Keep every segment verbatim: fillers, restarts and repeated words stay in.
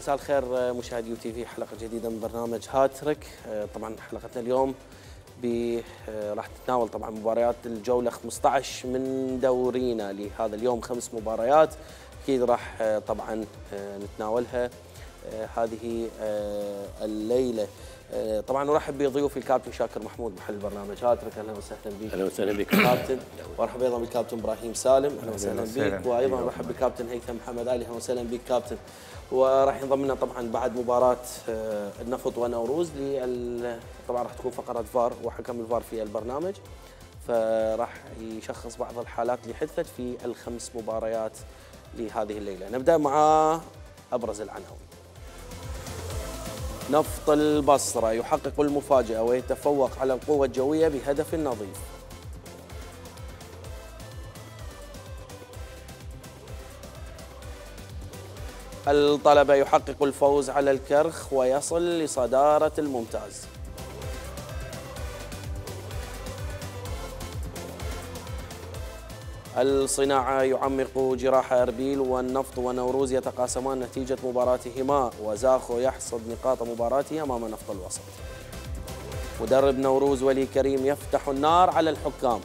مساء الخير مشاهدي يو تي في، حلقة جديدة من برنامج هاتريك. طبعا حلقتنا اليوم راح تتناول طبعا مباريات الجولة خمسة عشر من دورينا لهذا اليوم، خمس مباريات اكيد راح طبعا نتناولها هذه الليلة. طبعا نرحب بضيوفي الكابتن شاكر محمود محل برنامج هاتريك، اهلا وسهلا بك. اهلا وسهلا بك كابتن. وارحب ايضا بالكابتن ابراهيم سالم، اهلا وسهلا بك. وايضا نرحب بالكابتن هيثم محمد علي، اهلا وسهلا بك كابتن. وراح ينضم لنا طبعا بعد مباراه النفط ونوروز لل... طبعا راح تكون فقره فار وحكم الفار في البرنامج، فراح يشخص بعض الحالات اللي حدثت في الخمس مباريات لهذه الليله. نبدا مع ابرز العناوين. نفط البصره يحقق المفاجاه ويتفوق على القوه الجويه بهدف نظيف. الطلبة يحقق الفوز على الكرخ ويصل لصدارة الممتاز. الصناعة يعمق جراح أربيل، والنفط ونوروز يتقاسمان نتيجة مباراتهما، وزاخو يحصد نقاط مباراته أمام نفط الوسط. مدرب نوروز ولي كريم يفتح النار على الحكام،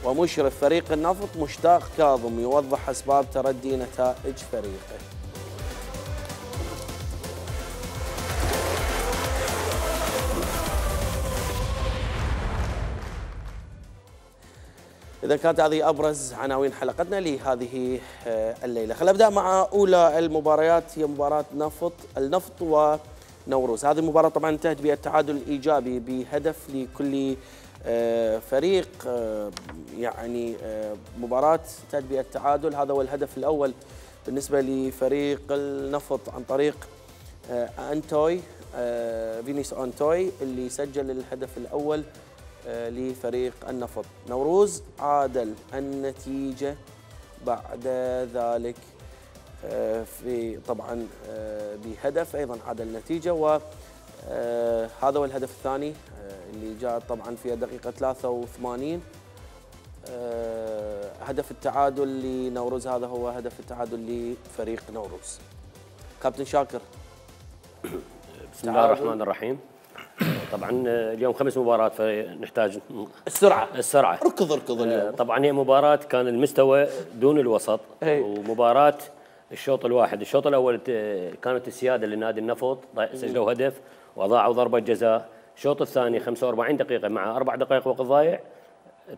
ومشرف فريق النفط مشتاق كاظم يوضح أسباب تردي نتائج فريقه. إذا كانت هذه أبرز عناوين حلقتنا لهذه الليلة، خلينا نبدأ مع أولى المباريات، هي مباراة نفط النفط ونوروز. هذه المباراة طبعا انتهت بالتعادل الإيجابي بهدف لكل فريق، يعني مباراة انتهت بالتعادل، هذا هو الهدف الأول بالنسبة لفريق النفط عن طريق أنتوي فينيس أنتوي اللي سجل الهدف الأول لفريق النفط. نوروز عادل النتيجة بعد ذلك في طبعا بهدف أيضا عادل النتيجة، وهذا هو الهدف الثاني اللي جاء طبعا في الدقيقة ثلاثة وثمانين. هدف التعادل لنوروز، هذا هو هدف التعادل لفريق نوروز. كابتن شاكر. بسم الله الرحمن الرحيم. طبعا اليوم خمس مباريات فنحتاج السرعه السرعه اركض اركض اليوم. طبعا هي مباراه كان المستوى دون الوسط، هي. ومباراه الشوط الواحد، الشوط الاول كانت السياده لنادي النفط، سجلوا هدف واضاعوا ضربه جزاء. الشوط الثاني خمسة وأربعين دقيقه مع اربع دقائق وقت ضايع،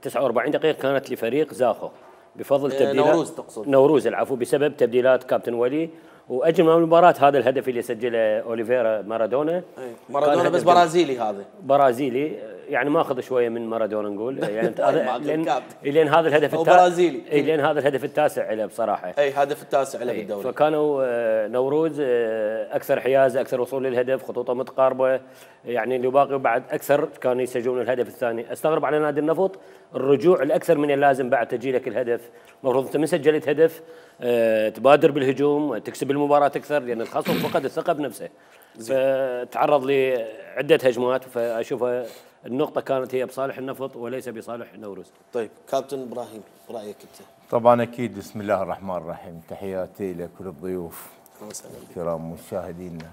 تسعة وأربعين دقيقه كانت لفريق زاخو بفضل تبديلات نوروز تقصد نوروز العفو، بسبب تبديلات كابتن ولي. واجمل من المباراه هذا الهدف اللي سجله اوليفيرا مارادونا. مارادونا بس برازيلي، هذا برازيلي يعني ماخذ شويه من مارادونا نقول، يعني لين لين هذا الهدف التاسع برازيلي، اي لين هذا الهدف التاسع له بصراحه، اي هدف التاسع له بالدوري. فكانوا نوروز اكثر حيازه، اكثر وصول للهدف، خطوطه متقاربه، يعني اللي باقي بعد اكثر كانوا يسجلون الهدف الثاني. استغرب على نادي النفط الرجوع الاكثر من اللازم بعد تسجيلك الهدف. المفروض انت من سجلت هدف تبادر بالهجوم، تكسب المباراه اكثر، لان الخصم فقد الثقه بنفسه، فتعرض لعده هجمات. فاشوفها النقطه كانت هي بصالح النفط وليس بصالح نوروز. طيب كابتن ابراهيم، رايك انت؟ طبعا اكيد. بسم الله الرحمن الرحيم، تحياتي لكل الضيوف الكرام مشاهدينا.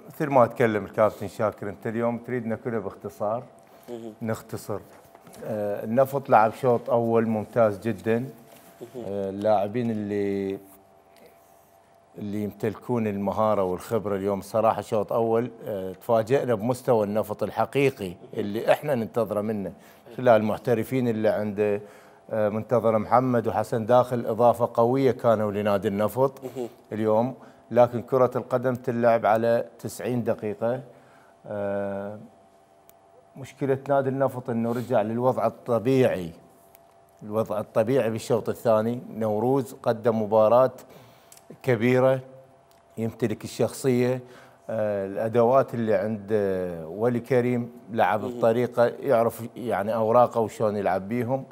مثل ما تكلم الكابتن شاكر، انت اليوم تريدنا كله باختصار نختصر. النفط لعب شوط اول ممتاز جدا، اللاعبين اللي اللي يمتلكون المهاره والخبره اليوم صراحه شوط اول تفاجئنا بمستوى النفط الحقيقي اللي احنا ننتظره منه، خلال المحترفين اللي عنده منتظر محمد وحسن داخل، اضافه قويه كانوا لنادي النفط اليوم. لكن كره القدم تلعب على تسعين دقيقه. مشكله نادي النفط انه رجع للوضع الطبيعي، الوضع الطبيعي بالشوط الثاني. نوروز قدم مباراة كبيرة، يمتلك الشخصية، الأدوات اللي عند ولي كريم، لعب بطريقة يعرف يعني أوراقه وشون يلعب بيهم.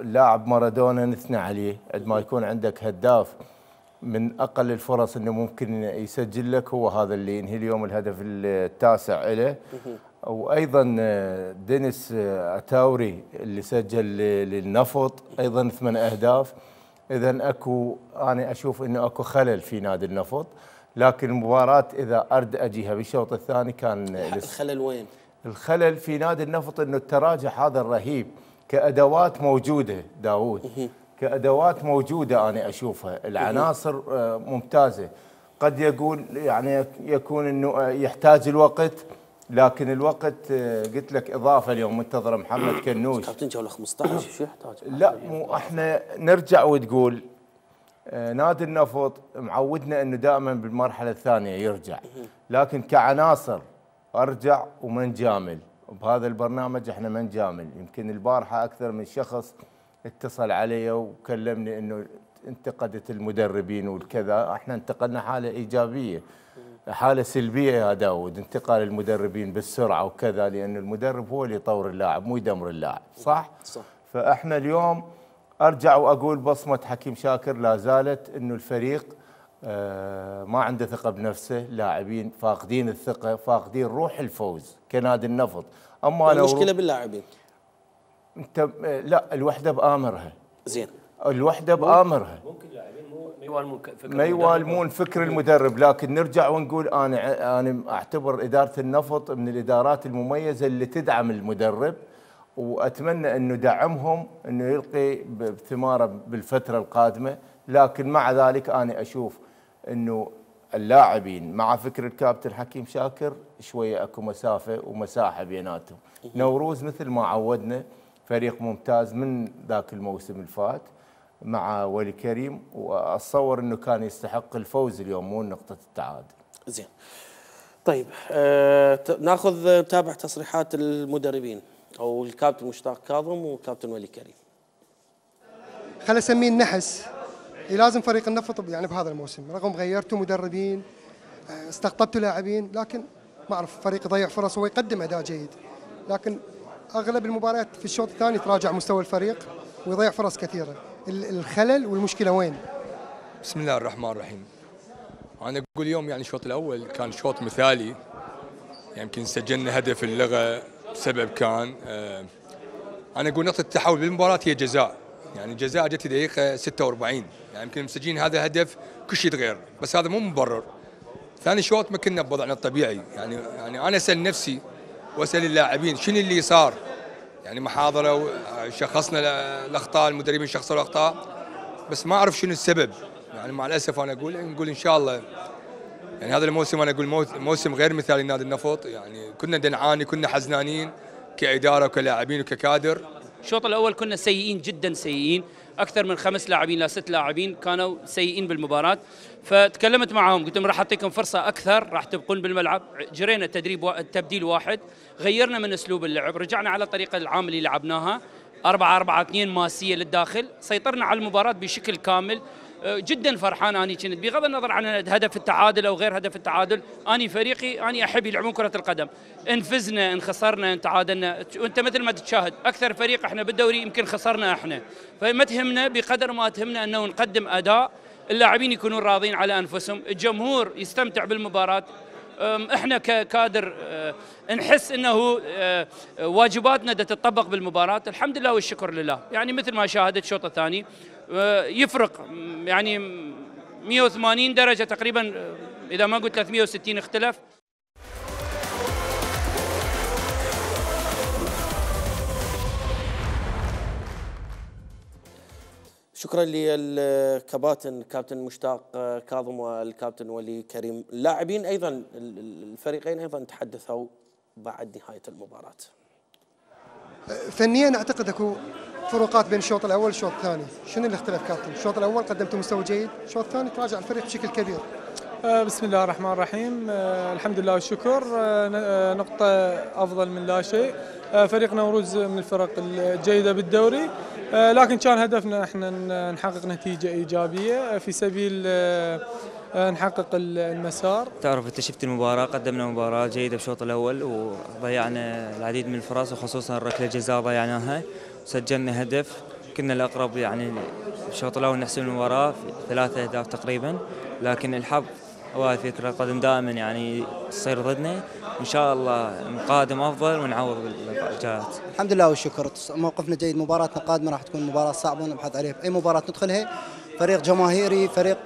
اللاعب مارادونا نثنى عليه، عندما يكون عندك هداف من أقل الفرص أنه ممكن يسجل لك، هو هذا اللي ينهي اليوم الهدف التاسع له. وايضا دينيس اتاوري اللي سجل للنفط ايضا ثمان اهداف. اذا اكو انا اشوف انه اكو خلل في نادي النفط، لكن المباراه اذا ارد اجيها بالشوط الثاني كان الخلل وين؟ الخلل في نادي النفط انه التراجع هذا الرهيب كادوات موجوده داوود، كادوات موجوده انا اشوفها، العناصر ممتازه، قد يقول يعني يكون انه يحتاج الوقت، لكن الوقت قلت لك اضافه اليوم منتظر محمد كنوش. كابتن جوله خمسطعش شو يحتاج؟ لا مو احنا نرجع وتقول نادي النفط معودنا انه دائما بالمرحله الثانيه يرجع، لكن كعناصر ارجع وما نجامل، بهذا البرنامج احنا ما نجامل، يمكن البارحه اكثر من شخص اتصل علي وكلمني انه انتقدت المدربين والكذا، احنا انتقلنا حاله ايجابيه، حاله سلبيه يا داود، انتقال المدربين بالسرعه وكذا، لان المدرب هو اللي يطور اللاعب مو يدمر اللاعب، صح؟ صح. فاحنا اليوم ارجع واقول بصمه حكيم شاكر لا زالت انه الفريق آه ما عنده ثقه بنفسه، لاعبين فاقدين الثقه، فاقدين روح الفوز كنادي النفط. اما المشكله باللاعبين. انت لا الوحده بامرها. زين. الوحده بامرها. ممكن لاعبين مو ما يوالمون فكر ما يوالمون فكر المدرب، لكن نرجع ونقول انا انا اعتبر اداره النفط من الادارات المميزه اللي تدعم المدرب، واتمنى انه دعمهم انه يلقي بثماره بالفتره القادمه، لكن مع ذلك انا اشوف انه اللاعبين مع فكر الكابتن حكيم شاكر شويه اكو مسافه ومساحه بيناتهم. نوروز مثل ما عودنا فريق ممتاز من ذاك الموسم الفات مع ولي كريم، واتصور انه كان يستحق الفوز اليوم مو نقطه التعادل. زين. طيب آه ناخذ تابع تصريحات المدربين او الكابتن مشتاق كاظم وكابتن ولي كريم. خل اسميه النحس اللي لازم فريق النفط يعني بهذا الموسم، رغم غيرتوا مدربين استقطبتوا لاعبين، لكن ما اعرف فريق يضيع فرص ويقدم اداء جيد، لكن اغلب المباريات في الشوط الثاني تراجع مستوى الفريق ويضيع فرص كثيره. الخلل والمشكله وين؟ بسم الله الرحمن الرحيم. انا اقول اليوم يعني الشوط الاول كان شوط مثالي، يمكن يعني سجلنا هدف اللغه بسبب كان آه انا اقول نقطه التحول بالمباراه هي جزاء، يعني جزاء جت في دقيقه ستة وأربعين، يعني يمكن مسجلين هذا الهدف كل شيء يتغير، بس هذا مو مبرر. ثاني شوط ما كنا بوضعنا الطبيعي، يعني يعني انا اسال نفسي واسال اللاعبين شنو اللي صار؟ يعني محاضره شخصنا الاخطاء، المدربين شخصوا الاخطاء، بس ما اعرف شنو السبب. يعني مع الاسف انا اقول نقول ان شاء الله يعني هذا الموسم انا اقول موسم غير مثالي لنادي النفط، يعني كنا نعاني، كنا حزنانين كاداره وكلاعبين وككادر. الشوط الاول كنا سيئين جدا سيئين، اكثر من خمس لاعبين لا ست لاعبين كانوا سيئين بالمباراه، فتكلمت معهم قلت لهم راح اعطيكم فرصه اكثر، راح تبقون بالملعب. جرينا تدريب و... تبديل واحد، غيرنا من اسلوب اللعب، رجعنا على الطريقه العام اللي لعبناها أربعة أربعة اثنين ماسيه للداخل، سيطرنا على المباراه بشكل كامل. جدا فرحان اني كنت، بغض النظر عن هدف التعادل او غير هدف التعادل، اني فريقي اني احب يلعبون كره القدم، ان فزنا ان خسرنا ان تعادلنا، وانت مثل ما تشاهد اكثر فريق احنا بالدوري يمكن خسرنا احنا، فما تهمنا بقدر ما تهمنا انه نقدم اداء، اللاعبين يكونون راضين على انفسهم، الجمهور يستمتع بالمباراه، احنا ككادر نحس انه واجباتنا تتطبق بالمباراه، الحمد لله والشكر لله. يعني مثل ما شاهدت الشوط الثاني يفرق يعني مئة وثمانين درجه تقريبا، اذا ما قلت ثلاثمئة وستين اختلف. شكرا للكباتن كابتن مشتاق كاظم والكابتن ولي كريم. اللاعبين ايضا الفريقين ايضا تحدثوا بعد نهايه المباراه. فنيا اعتقد اكو فروقات بين الشوط الاول والشوط الثاني. شنو اللي اختلف كابتن؟ الشوط الاول قدمتوا مستوى جيد، الشوط الثاني تراجع الفريق بشكل كبير. بسم الله الرحمن الرحيم، الحمد لله والشكر، نقطة أفضل من لا شيء. فريق نوروز من الفرق الجيدة بالدوري، لكن كان هدفنا احنا نحقق نتيجة إيجابية في سبيل نحقق المسار. تعرف انت شفت المباراة، قدمنا مباراة جيدة بالشوط الأول وضيعنا العديد من الفرص، وخصوصا ركلة جزاء ضيعناها، وسجلنا هدف. كنا الأقرب يعني بالشوط الأول نحسم المباراة ثلاثة أهداف تقريبا، لكن الحظ وهذه كرة القدم دائما يعني تصير ضدنا، وإن شاء الله القادم أفضل ونعوض بالجهات. الحمد لله والشكر، موقفنا جيد. مباراتنا القادمة راح تكون مباراة صعبة نبحث عليها في أي مباراة ندخلها. فريق جماهيري، فريق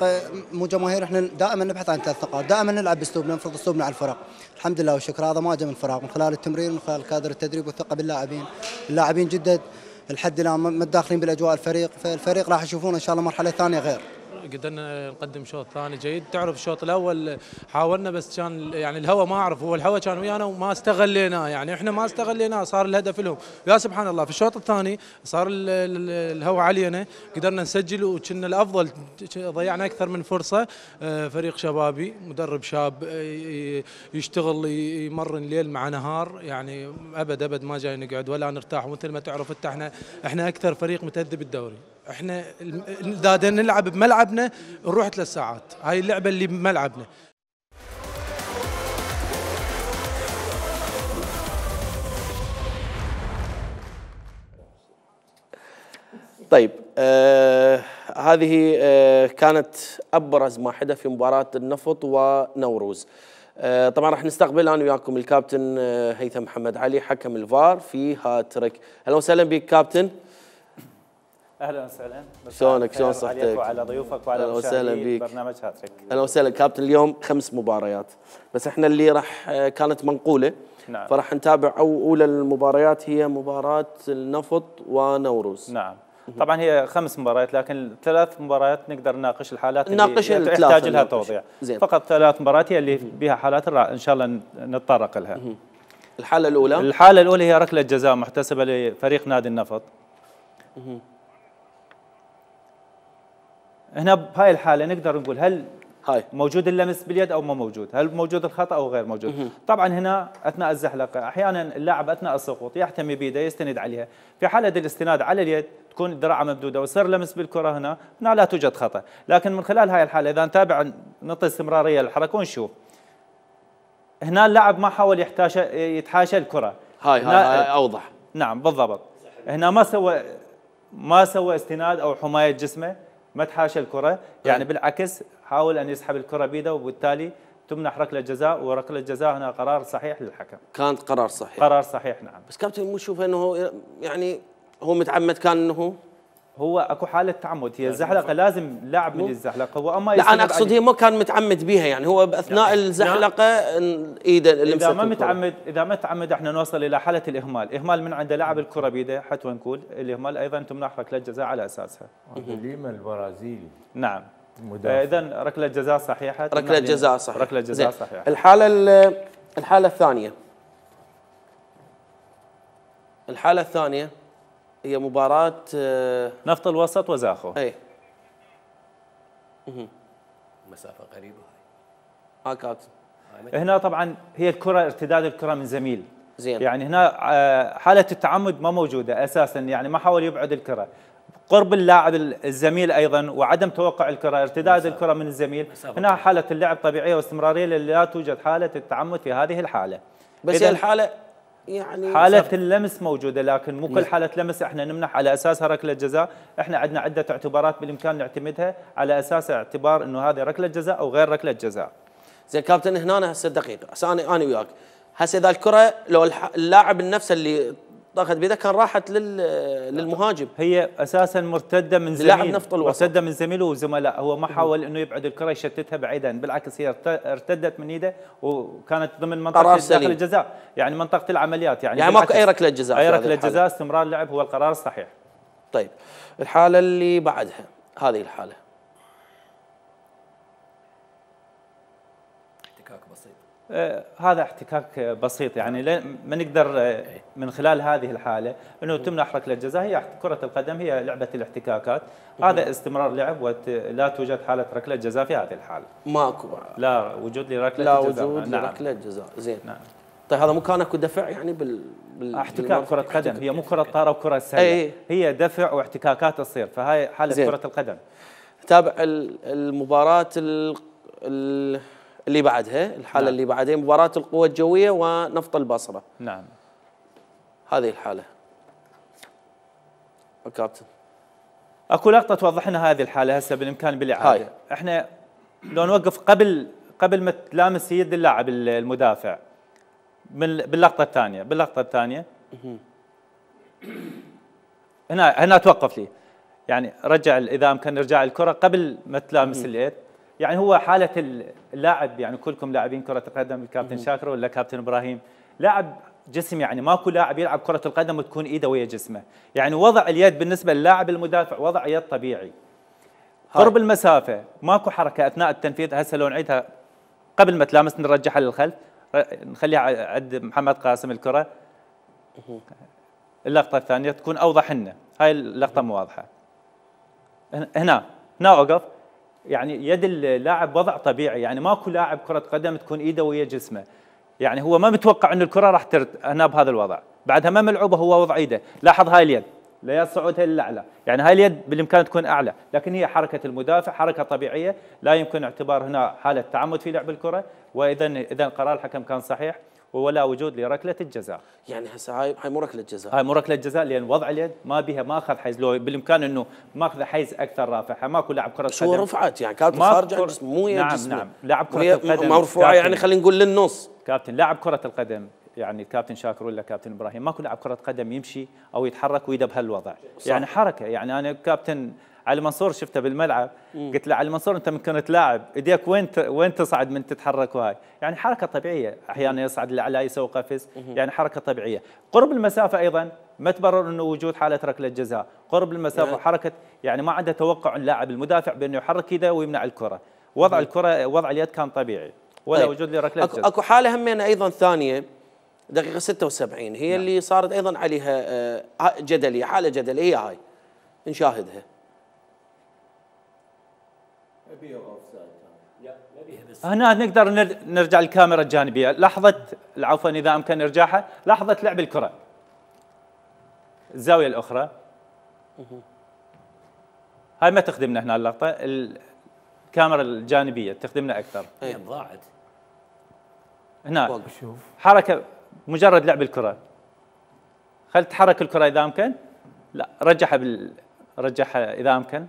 مو جماهيري، احنا دائما نبحث عن ثلاث نقاط، دائما نلعب باسلوبنا، نفرض اسلوبنا على الفرق. الحمد لله والشكر، هذا ما جاء من فراغ، من خلال التمرين، من خلال كادر التدريب والثقة باللاعبين. اللاعبين جدد لحد الان ما داخلين بالاجواء الفريق، فالفريق راح يشوفون ان شاء الله مرحلة ثانية غير. قدرنا نقدم شوط ثاني جيد. تعرف الشوط الاول حاولنا بس كان يعني الهواء ما اعرف، هو الهواء كان ويانا وما استغليناه، يعني احنا ما استغليناه، صار الهدف لهم. يا سبحان الله في الشوط الثاني صار الهواء علينا، قدرنا نسجل وكنا الافضل، ضيعنا اكثر من فرصه. فريق شبابي، مدرب شاب يشتغل يمرن ليل مع نهار، يعني ابد ابد ما جاي نقعد ولا نرتاح. ومثل ما تعرف انت احنا احنا اكثر فريق متأدب الدوري. احنا اذا نلعب بملعبنا نروح ثلاث ساعات، هاي اللعبه اللي بملعبنا. طيب آه هذه آه كانت ابرز ما حدث في مباراه النفط ونوروز. آه طبعا راح نستقبل انا وياكم الكابتن آه هيثم محمد علي حكم الفار في هاتريك. اهلا وسهلا بك كابتن. اهلا وسهلا. شلونك؟ شلون صحتك؟ وعلى ضيوفك وعلى مشاهدي برنامج هاتريك. اهلا وسهلا كابتن. اليوم خمس مباريات، بس احنا اللي راح كانت منقوله. نعم. فراح نتابع اولى المباريات هي مباراه النفط ونوروز. نعم. طبعا هي خمس مباريات، لكن ثلاث مباريات نقدر نناقش الحالات نناقش اللي تحتاج لها توضيح. فقط ثلاث مباريات هي اللي بها حالات ان شاء الله نتطرق لها. الحاله الاولى الحاله الاولى هي ركله جزاء محتسبه لفريق نادي النفط. هنا بهاي الحاله نقدر نقول هل هاي موجود اللمس باليد او ما موجود، هل موجود الخطا او غير موجود. مه. طبعا هنا اثناء الزحلقه احيانا اللاعب اثناء السقوط يحتمي بيده يستند عليها، في حاله الاستناد على اليد تكون الذراع ممدوده ويصير لمس بالكره، هنا هنا لا توجد خطا. لكن من خلال هاي الحاله اذا نتابع نعطي استمراريه للحركه ونشوف هنا اللاعب ما حاول يحتاشى يتحاشى الكره. هاي هاي, هاي اوضح. نعم بالضبط. هنا ما سوى ما سوى استناد او حمايه جسمه، ما تحاشى الكرة، يعني بالعكس حاول أن يسحب الكرة بيده، وبالتالي تمنح ركلة جزاء، وركلة جزاء هنا قرار صحيح للحكم. كانت قرار صحيح. قرار صحيح نعم. بس كابتن مو شوف انه يعني هو متعمد كان انه هو اكو حالة تعمد، هي الزحلقة لازم لاعب من الزحلقة هو اما لا انا اقصد هي ما كان متعمد بيها، يعني هو باثناء يعني الزحلقة ايده لمست اذا ما متعمد اذا ما متعمد احنا نوصل الى حالة الاهمال، اهمال من عنده لاعب الكرة بيده حتى نقول الاهمال ايضا تمنح ركلة جزاء على اساسها. ليما البرازيلي. نعم. اذا ركلة جزاء صحيحة. ركلة جزاء صحيحة. ركلة جزاء صحيحة. الحالة الحالة الثانية الحالة الثانية هي مباراة نفط الوسط وزاخو. اي مسافة قريبة هاي. اه كابتن. هنا طبعا هي الكرة ارتداد الكرة من زميل. زين. يعني هنا حالة التعمد ما موجودة اساسا، يعني ما حاول يبعد الكرة. قرب اللاعب الزميل ايضا وعدم توقع الكرة، ارتداد الكرة من الزميل. هنا حالة اللعب طبيعية واستمرارية، لا توجد حالة التعمد في هذه الحالة. بس هي الحالة يعني حالة اللمس موجودة، لكن مو كل حالة لمس احنا نمنح على اساسها ركلة جزاء، احنا عندنا عدة اعتبارات بالامكان نعتمدها على اساس اعتبار انه هذه ركلة جزاء او غير ركلة جزاء. زين كابتن هنا هسه دقيقة، هسه انا انا وياك، هسه اذا الكرة لو اللاعب نفسه اللي طاقت بيده كان راحت للمهاجم، هي اساسا مرتده من زميل، مرتده من زميله وزملاء، هو ما حاول انه يبعد الكره يشتتها بعيدا، بالعكس هي ارتدت من ايده وكانت ضمن منطقه داخل الجزاء، يعني منطقه العمليات، يعني يعني ماكو اي ركله جزاء، اي ركله جزاء، استمرار اللعب هو القرار الصحيح. طيب الحاله اللي بعدها هذه الحاله احتكاك بسيط. آه هذا احتكاك بسيط، يعني ما نقدر من خلال هذه الحاله انه تمنح ركله جزاء، هي كره القدم هي لعبه الاحتكاكات، هذا استمرار لعب ولا توجد حاله ركله جزاء في هذه الحاله. ماكو لا وجود لركله لا جزاء. وجود نعم. لركله جزاء. زين. نعم. طيب هذا مو كان اكو دفع يعني بال, بال... احتكاك كره قدم، هي مو كره طاره وكره سله، أي. هي دفع واحتكاكات تصير، فهاي حاله زين. كره القدم. تابع المباراه ال... ال... اللي بعدها، الحاله نعم. اللي بعدها مباراه القوى الجويه ونفط البصره. نعم. هذه الحاله كابتن اكو لقطه توضح لنا هذه الحاله هسه بالامكان بالاعاده. احنا لو نوقف قبل قبل ما تلامس يد اللاعب المدافع باللقطه الثانيه باللقطه الثانيه هنا هنا توقف لي، يعني رجع اذا امكن ارجاع الكره قبل ما تلامس اليد. يعني هو حاله اللاعب، يعني كلكم لاعبين كره القدم، الكابتن شاكر ولا كابتن ابراهيم، لاعب جسم، يعني ماكو لاعب يلعب كره القدم وتكون ايده ويا جسمه، يعني وضع اليد بالنسبه للاعب المدافع وضع يد طبيعي. قرب المسافه ماكو حركه اثناء التنفيذ. هسه لو نعيدها قبل ما تلامس نرجعها للخلف، نخليها عند محمد قاسم الكره. اللقطه الثانيه تكون اوضح لنا، هاي اللقطه مو واضحه. هنا هنا اوقف، يعني يد اللاعب وضع طبيعي، يعني ماكو لاعب كره قدم تكون ايده ويا جسمه، يعني هو ما متوقع انه الكره راح ترد هنا بهذا الوضع، بعدها ما ملعوبه هو وضع ايده. لاحظ هاي اليد لا صعودها للاعلى، يعني هاي اليد بالامكان تكون اعلى، لكن هي حركه المدافع حركه طبيعيه، لا يمكن اعتبار هنا حاله تعمد في لعب الكره، واذا اذا قرار الحكم كان صحيح ولا وجود لركله الجزاء. يعني هسه هاي هاي مو ركله جزاء، هاي مو ركله جزاء، لان وضع اليد ما بها ما اخذ حيز، لو بالامكان انه ماخذ حيز اكثر رافعها، ماكو لاعب كره قدم. هو رفعت يعني كانت خارج عن جسمه مو نعم جسمه. نعم لاعب كره القدم مرفوعه، يعني خلينا نقول للنص. كابتن لاعب كره القدم، يعني الكابتن شاكر ولا كابتن ابراهيم، ماكو لاعب كره قدم يمشي او يتحرك ويده بهالوضع، صح. يعني حركه. يعني انا كابتن علي منصور شفته بالملعب، مم. قلت له علي منصور انت من كنت لاعب ايديك وين وين تصعد من تتحرك، وهاي يعني حركه طبيعيه، احيانا يصعد لاعلى يسوي قفز، مم. يعني حركه طبيعيه. قرب المسافه ايضا ما تبرر انه وجود حاله ركله جزاء، قرب المسافه يعني حركه، يعني ما عنده توقع اللاعب المدافع بانه يحرك ايده ويمنع الكره، وضع مم. الكره وضع اليد كان طبيعي ولا طيب. وجود لركله جزاء. اكو حاله همين ايضا ثانيه دقيقه ستة وسبعين هي نعم. اللي صارت ايضا عليها جدليه، حاله جدليه هاي نشاهدها. هنا نقدر نرجع الكاميرا الجانبيه، لحظه عفوا اذا امكن ارجاعها، لحظه لعب الكره. الزاويه الاخرى هاي ما تخدمنا هنا اللقطه، الكاميرا الجانبيه تخدمنا اكثر. هي ضاعت هنا حركه مجرد لعب الكره، خل تحرك الكره اذا امكن، لا رجعها بال رجعها اذا امكن.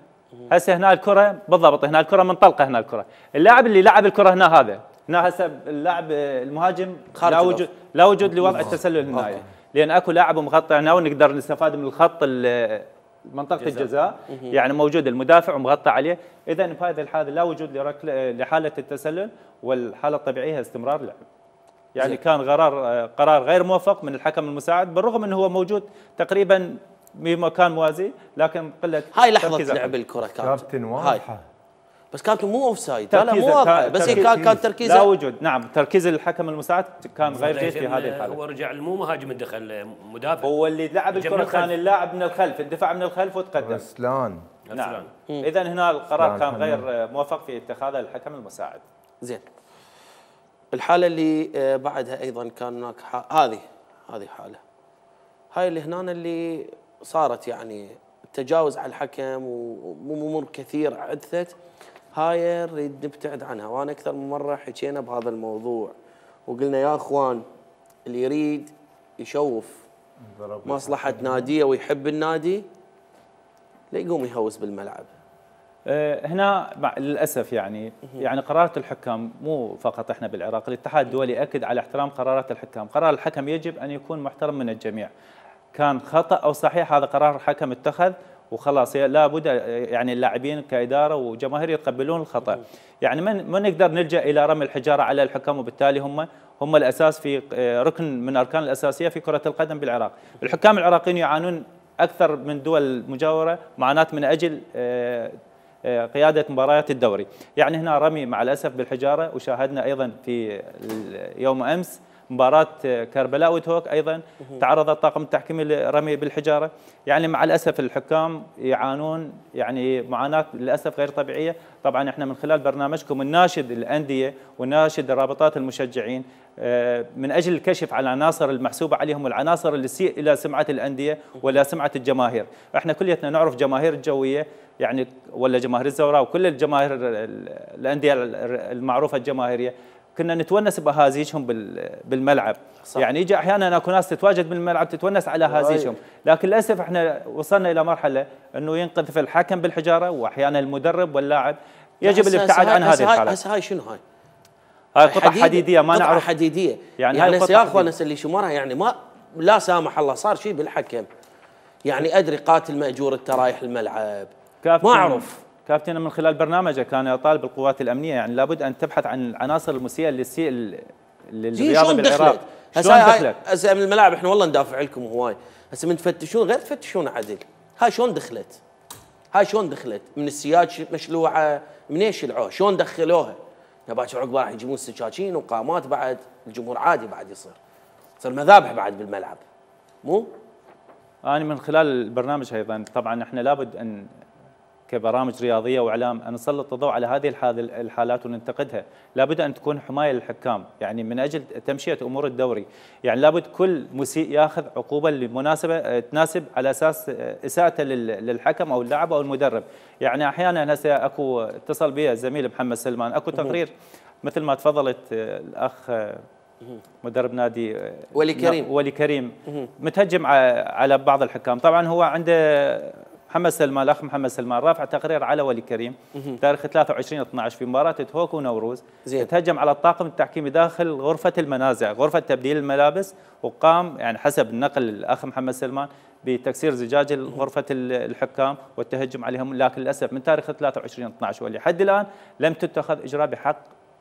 هسه هنا الكره بالضبط، هنا الكره منطلقه، هنا الكره اللاعب اللي لعب الكره هنا هذا هنا هسه اللاعب المهاجم لا وجود لا وجود لوضع التسلل هنا، لان اكو لاعب مغطي هنا ونقدر نستفاد من الخط منطقه الجزاء، يعني موجود المدافع ومغطى عليه. اذا بهذه الحاله لا وجود لحاله التسلل، والحاله الطبيعيه استمرار لعب. يعني زي. كان قرار قرار غير موفق من الحكم المساعد، بالرغم انه هو موجود تقريبا بمكان موازي، لكن قله هاي لحظه لعب الكره كابتن واضحه، بس كابتن مو اوف سايد، لا لا مو واضحه، بس هي كان كان تركيزه لا وجود. نعم تركيز الحكم المساعد كان غير جيد في هذه الحاله. هو رجع مو مهاجم دخل مدافع، هو اللي لعب الكره كان اللاعب من الخلف، الدفاع من الخلف وتقدم. رسلان. نعم اذا هنا القرار كان غير موفق في اتخاذه الحكم المساعد. زين. الحاله اللي بعدها ايضا كان هناك هذه هذه حاله، هاي اللي هنا اللي صارت يعني التجاوز على الحكم وامور كثير حدثت، هاي نريد نبتعد عنها. وانا اكثر من مره حكينا بهذا الموضوع وقلنا يا اخوان اللي يريد يشوف مصلحه ناديه ويحب النادي لا يقوم يهوس بالملعب. هنا للاسف يعني يعني قرارات الحكام مو فقط احنا بالعراق، الاتحاد الدولي ياكد على احترام قرارات الحكام، قرار الحكم يجب ان يكون محترم من الجميع. كان خطا او صحيح هذا قرار الحكم اتخذ وخلاص، لابد يعني اللاعبين كاداره وجماهير يتقبلون الخطا. يعني ما ما نقدر نلجا الى رمي الحجاره على الحكام، وبالتالي هم هم الاساس في ركن من الاركان الاساسيه في كره القدم بالعراق. الحكام العراقيين يعانون اكثر من دول المجاوره معاناه من اجل قياده مباريات الدوري. يعني هنا رمي مع الاسف بالحجاره، وشاهدنا ايضا في يوم امس مباراة كربلاء وتهوك ايضا تعرض الطاقم التحكيمي لرمي بالحجاره. يعني مع الاسف الحكام يعانون يعني معاناه للاسف غير طبيعيه. طبعا احنا من خلال برنامجكم نناشد الانديه ونناشد رابطات المشجعين من اجل الكشف على العناصر المحسوبه عليهم والعناصر اللي تسيء الى سمعه الانديه ولا سمعه الجماهير. احنا كليتنا نعرف جماهير الجويه يعني ولا جماهير الزوراء وكل الجماهير الانديه المعروفه الجماهيريه، كنا نتونس باهازيجهم بالملعب. صح. يعني يجي احيانا اكو ناس تتواجد بالملعب تتونس على اهازيجهم، لكن للاسف احنا وصلنا الى مرحله انه ينقذف الحكم بالحجاره واحيانا المدرب واللاعب. يجب الابتعاد عن هذه الحالات. هسه هاي شنو هاي؟ هاي قطع حديديه ما قطعة نعرف حديديه يعني, يعني هاي يا اخوان اللي شمرها يعني ما لا سامح الله صار شيء بالحكم، يعني ادري قاتل ماجور الترايح الملعب ما اعرف. كابتن من خلال برنامجه كان يطالب القوات الامنيه يعني لابد ان تبحث عن العناصر المسيئه للسيء للرياضه بالعراق. شلون دخلت؟ هسه من الملاعب احنا والله ندافع لكم هواي، هسه من تفتشون غير تفتشون عدل، هاي شلون دخلت؟ هاي شلون دخلت؟ من السياج مشلوعه، من ايش شلعوها؟ شلون دخلوها؟ باكر عقب راح يجيبون سكاكين وقامات بعد، الجمهور عادي بعد يصير. يصير مذابح بعد بالملعب. مو؟ انا من خلال البرنامج ايضا طبعا احنا لابد ان كبرامج رياضيه واعلام ان نسلط الضوء على هذه الحالات وننتقدها، لابد ان تكون حمايه للحكام، يعني من اجل تمشيه امور الدوري، يعني لابد كل مسيء ياخذ عقوبه لمناسبه تناسب على اساس اساءته للحكم او اللاعب او المدرب، يعني احيانا هسه اكو اتصل بي الزميل محمد سلمان، اكو تقرير مثل ما تفضلت الاخ مدرب نادي ولي كريم ولي كريم متهجم على بعض الحكام، طبعا هو عنده محمد سلمان الاخ محمد سلمان رافع تقرير على ولي كريم تاريخ ثلاثة وعشرين اثنا عشر في مباراه هوك ونوروز، تهجم على الطاقم التحكيمي داخل غرفه المنازع، غرفه تبديل الملابس، وقام يعني حسب النقل الاخ محمد سلمان بتكسير زجاج غرفه الحكام والتهجم عليهم، لكن للاسف من تاريخ ثلاثة وعشرين اثنا عشر ولحد الان لم تتخذ اجراء بحق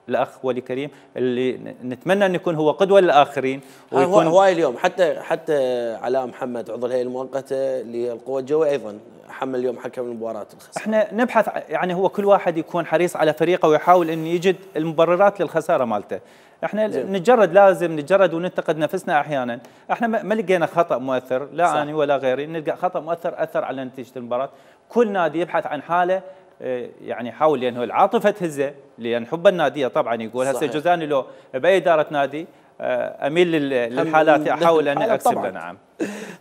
الاخ ولي كريم اللي نتمنى ان يكون هو قدوه للاخرين. ويكون هواي اليوم حتى حتى علاء محمد عضو الهيئه المؤقته للقوى الجويه ايضا حمل اليوم حكم المباراه الخساره. احنا نبحث يعني هو كل واحد يكون حريص على فريقه ويحاول انه يجد المبررات للخساره مالته. احنا نتجرد لازم نتجرد وننتقد نفسنا احيانا، احنا ما لقينا خطا مؤثر لا صح. انا ولا غيري نلقى خطا مؤثر اثر على نتيجه المباراه، كل نادي يبحث عن حاله يعني يحاول لانه العاطفه تهزه، لان حب الناديه طبعا يقول هسه جوزاني لو باي اداره نادي اميل للحالات احاول ان اكسب. نعم.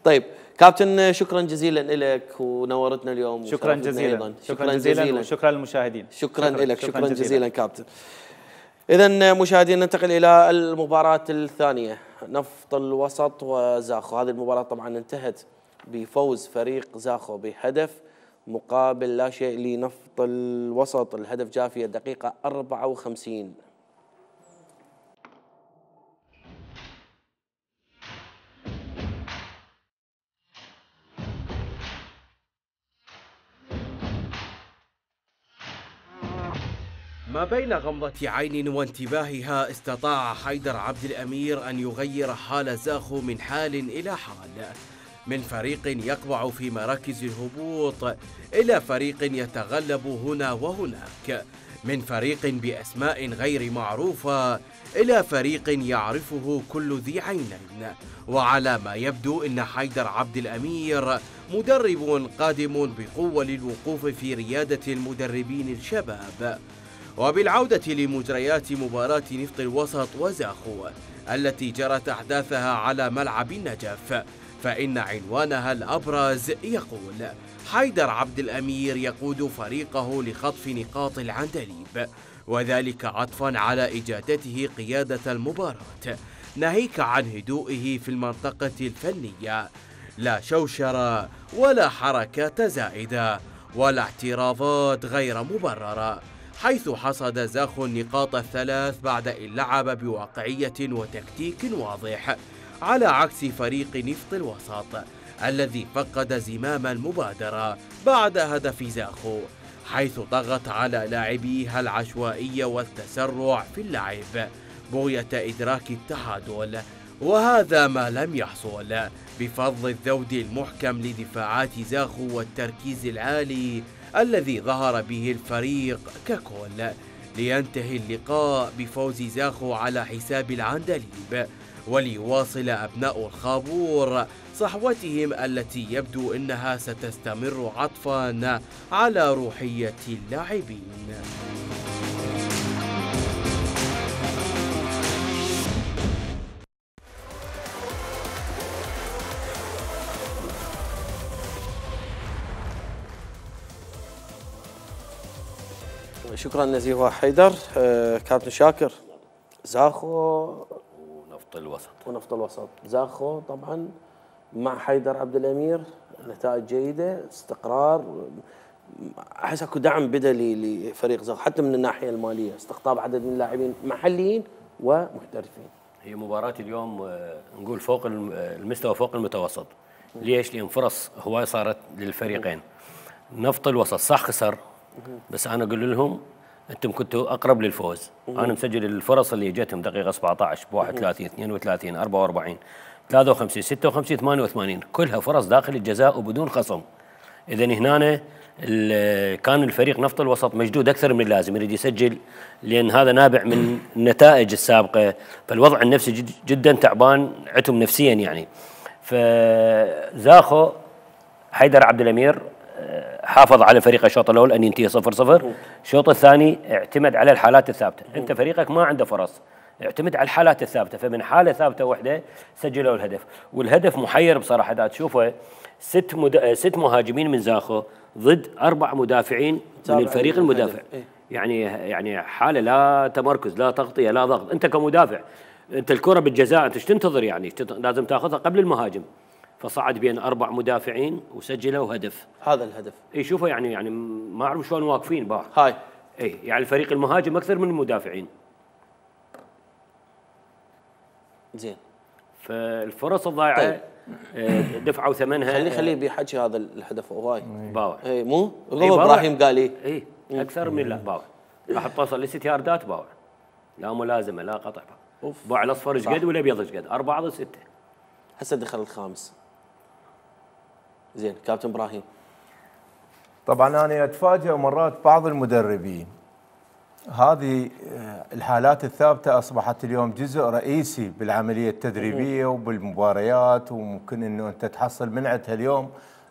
طيب كابتن شكرا جزيلا لك ونورتنا اليوم. شكرا جزيلا أيضاً. شكرا جزيلا وشكرا للمشاهدين. شكرا, شكرا لك شكرا, شكرا جزيلا, جزيلا كابتن. اذا مشاهدينا ننتقل الى المباراه الثانيه، نفط الوسط وزاخو. هذه المباراه طبعا انتهت بفوز فريق زاخو بهدف مقابل لا شيء لنفط الوسط، الهدف جاء في الدقيقة أربعة وخمسين. ما بين غمضة عين وانتباهها استطاع حيدر عبد الأمير أن يغير حال زاخو من حال إلى حال، من فريق يقبع في مراكز الهبوط إلى فريق يتغلب هنا وهناك، من فريق بأسماء غير معروفة إلى فريق يعرفه كل ذي عينين. وعلى ما يبدو إن حيدر عبد الأمير مدرب قادم بقوة للوقوف في ريادة المدربين الشباب. وبالعودة لمجريات مباراة نفط الوسط وزاخو التي جرت أحداثها على ملعب النجف، فإن عنوانها الأبرز يقول: حيدر عبد الأمير يقود فريقه لخطف نقاط العندليب، وذلك عطفا على إجادته قيادة المباراة، ناهيك عن هدوئه في المنطقة الفنية. لا شوشرة ولا حركات زائدة ولا اعتراضات غير مبررة، حيث حصد زاخو النقاط الثلاث بعد أن لعب بواقعية وتكتيك واضح، على عكس فريق نفط الوسط الذي فقد زمام المبادرة بعد هدف زاخو، حيث ضغط على لاعبيها العشوائية والتسرع في اللعب بغية إدراك التعادل، وهذا ما لم يحصل بفضل الذود المحكم لدفاعات زاخو والتركيز العالي الذي ظهر به الفريق ككل، لينتهي اللقاء بفوز زاخو على حساب العندليب، وليواصل أبناء الخابور صحوتهم التي يبدو أنها ستستمر عطفاً على روحية اللاعبين. شكرا نزيه حيدر. آه كابتن شاكر، زاخو ونفط الوسط ونفط الوسط زاخو طبعا مع حيدر عبد الأمير نتائج جيدة، استقرار، احس اكو دعم بدني لفريق زاخو حتى من الناحيه الماليه، استقطاب عدد من اللاعبين محليين ومحترفين. هي مباراة اليوم نقول فوق المستوى، فوق المتوسط. ليش؟ لأن فرص هواي صارت للفريقين. نفط الوسط صح خسر، بس أنا أقول لهم أنتم كنتوا أقرب للفوز. أنا مسجل الفرص اللي جتهم دقيقة سبعة عشر ب واحد وثلاثين اثنين وثلاثين أربعة وأربعين ثلاثة وخمسين ستة وخمسين ثمانية وثمانين، كلها فرص داخل الجزاء وبدون خصم. إذا هنا كان الفريق نفط الوسط مشدود أكثر من اللازم، يريد يسجل، لأن هذا نابع من النتائج السابقة، فالوضع النفسي جد جدا تعبان عتم نفسيا يعني. فزاخو حيدر عبد الأمير حافظ على فريقه الشوط الأول أن ينتهي صفر صفر. الشوط الثاني اعتمد على الحالات الثابتة. أنت فريقك ما عنده فرص، اعتمد على الحالات الثابتة، فمن حالة ثابتة واحدة سجلوا الهدف. والهدف محير بصراحة، دا تشوفه ست مد... ست مهاجمين من زاخو ضد أربع مدافعين من الفريق المدافع. يعني يعني حالة لا تمركز، لا تغطية، لا ضغط. أنت كمدافع أنت الكرة بالجزاء أنت ايش تنتظر؟ يعني لازم تاخذها قبل المهاجم. فصعد بين أربع مدافعين وسجلوا هدف. هذا الهدف. اي شوفوا يعني يعني ما أعرف شلون واقفين باع. هاي. اي يعني الفريق المهاجم أكثر من المدافعين. زين. فالفرص الضائعة طيب. دفعوا ثمنها. خلي خلي بيحكي هذا الهدف هواي. باوع. اي مو؟ هو ابراهيم قال لي. اي اكثر من لا باوع. راح توصل لست ياردات باوع. لا ملازمة لا قطع. باوع الاصفر ايش قد والابيض ايش قد؟ أربعة ضد ستة. هسه دخل الخامس. زين كابتن ابراهيم. طبعا انا اتفاجئ مرات بعض المدربين، هذه الحالات الثابته اصبحت اليوم جزء رئيسي بالعمليه التدريبيه وبالمباريات، وممكن انه انت تحصل من عندها اليوم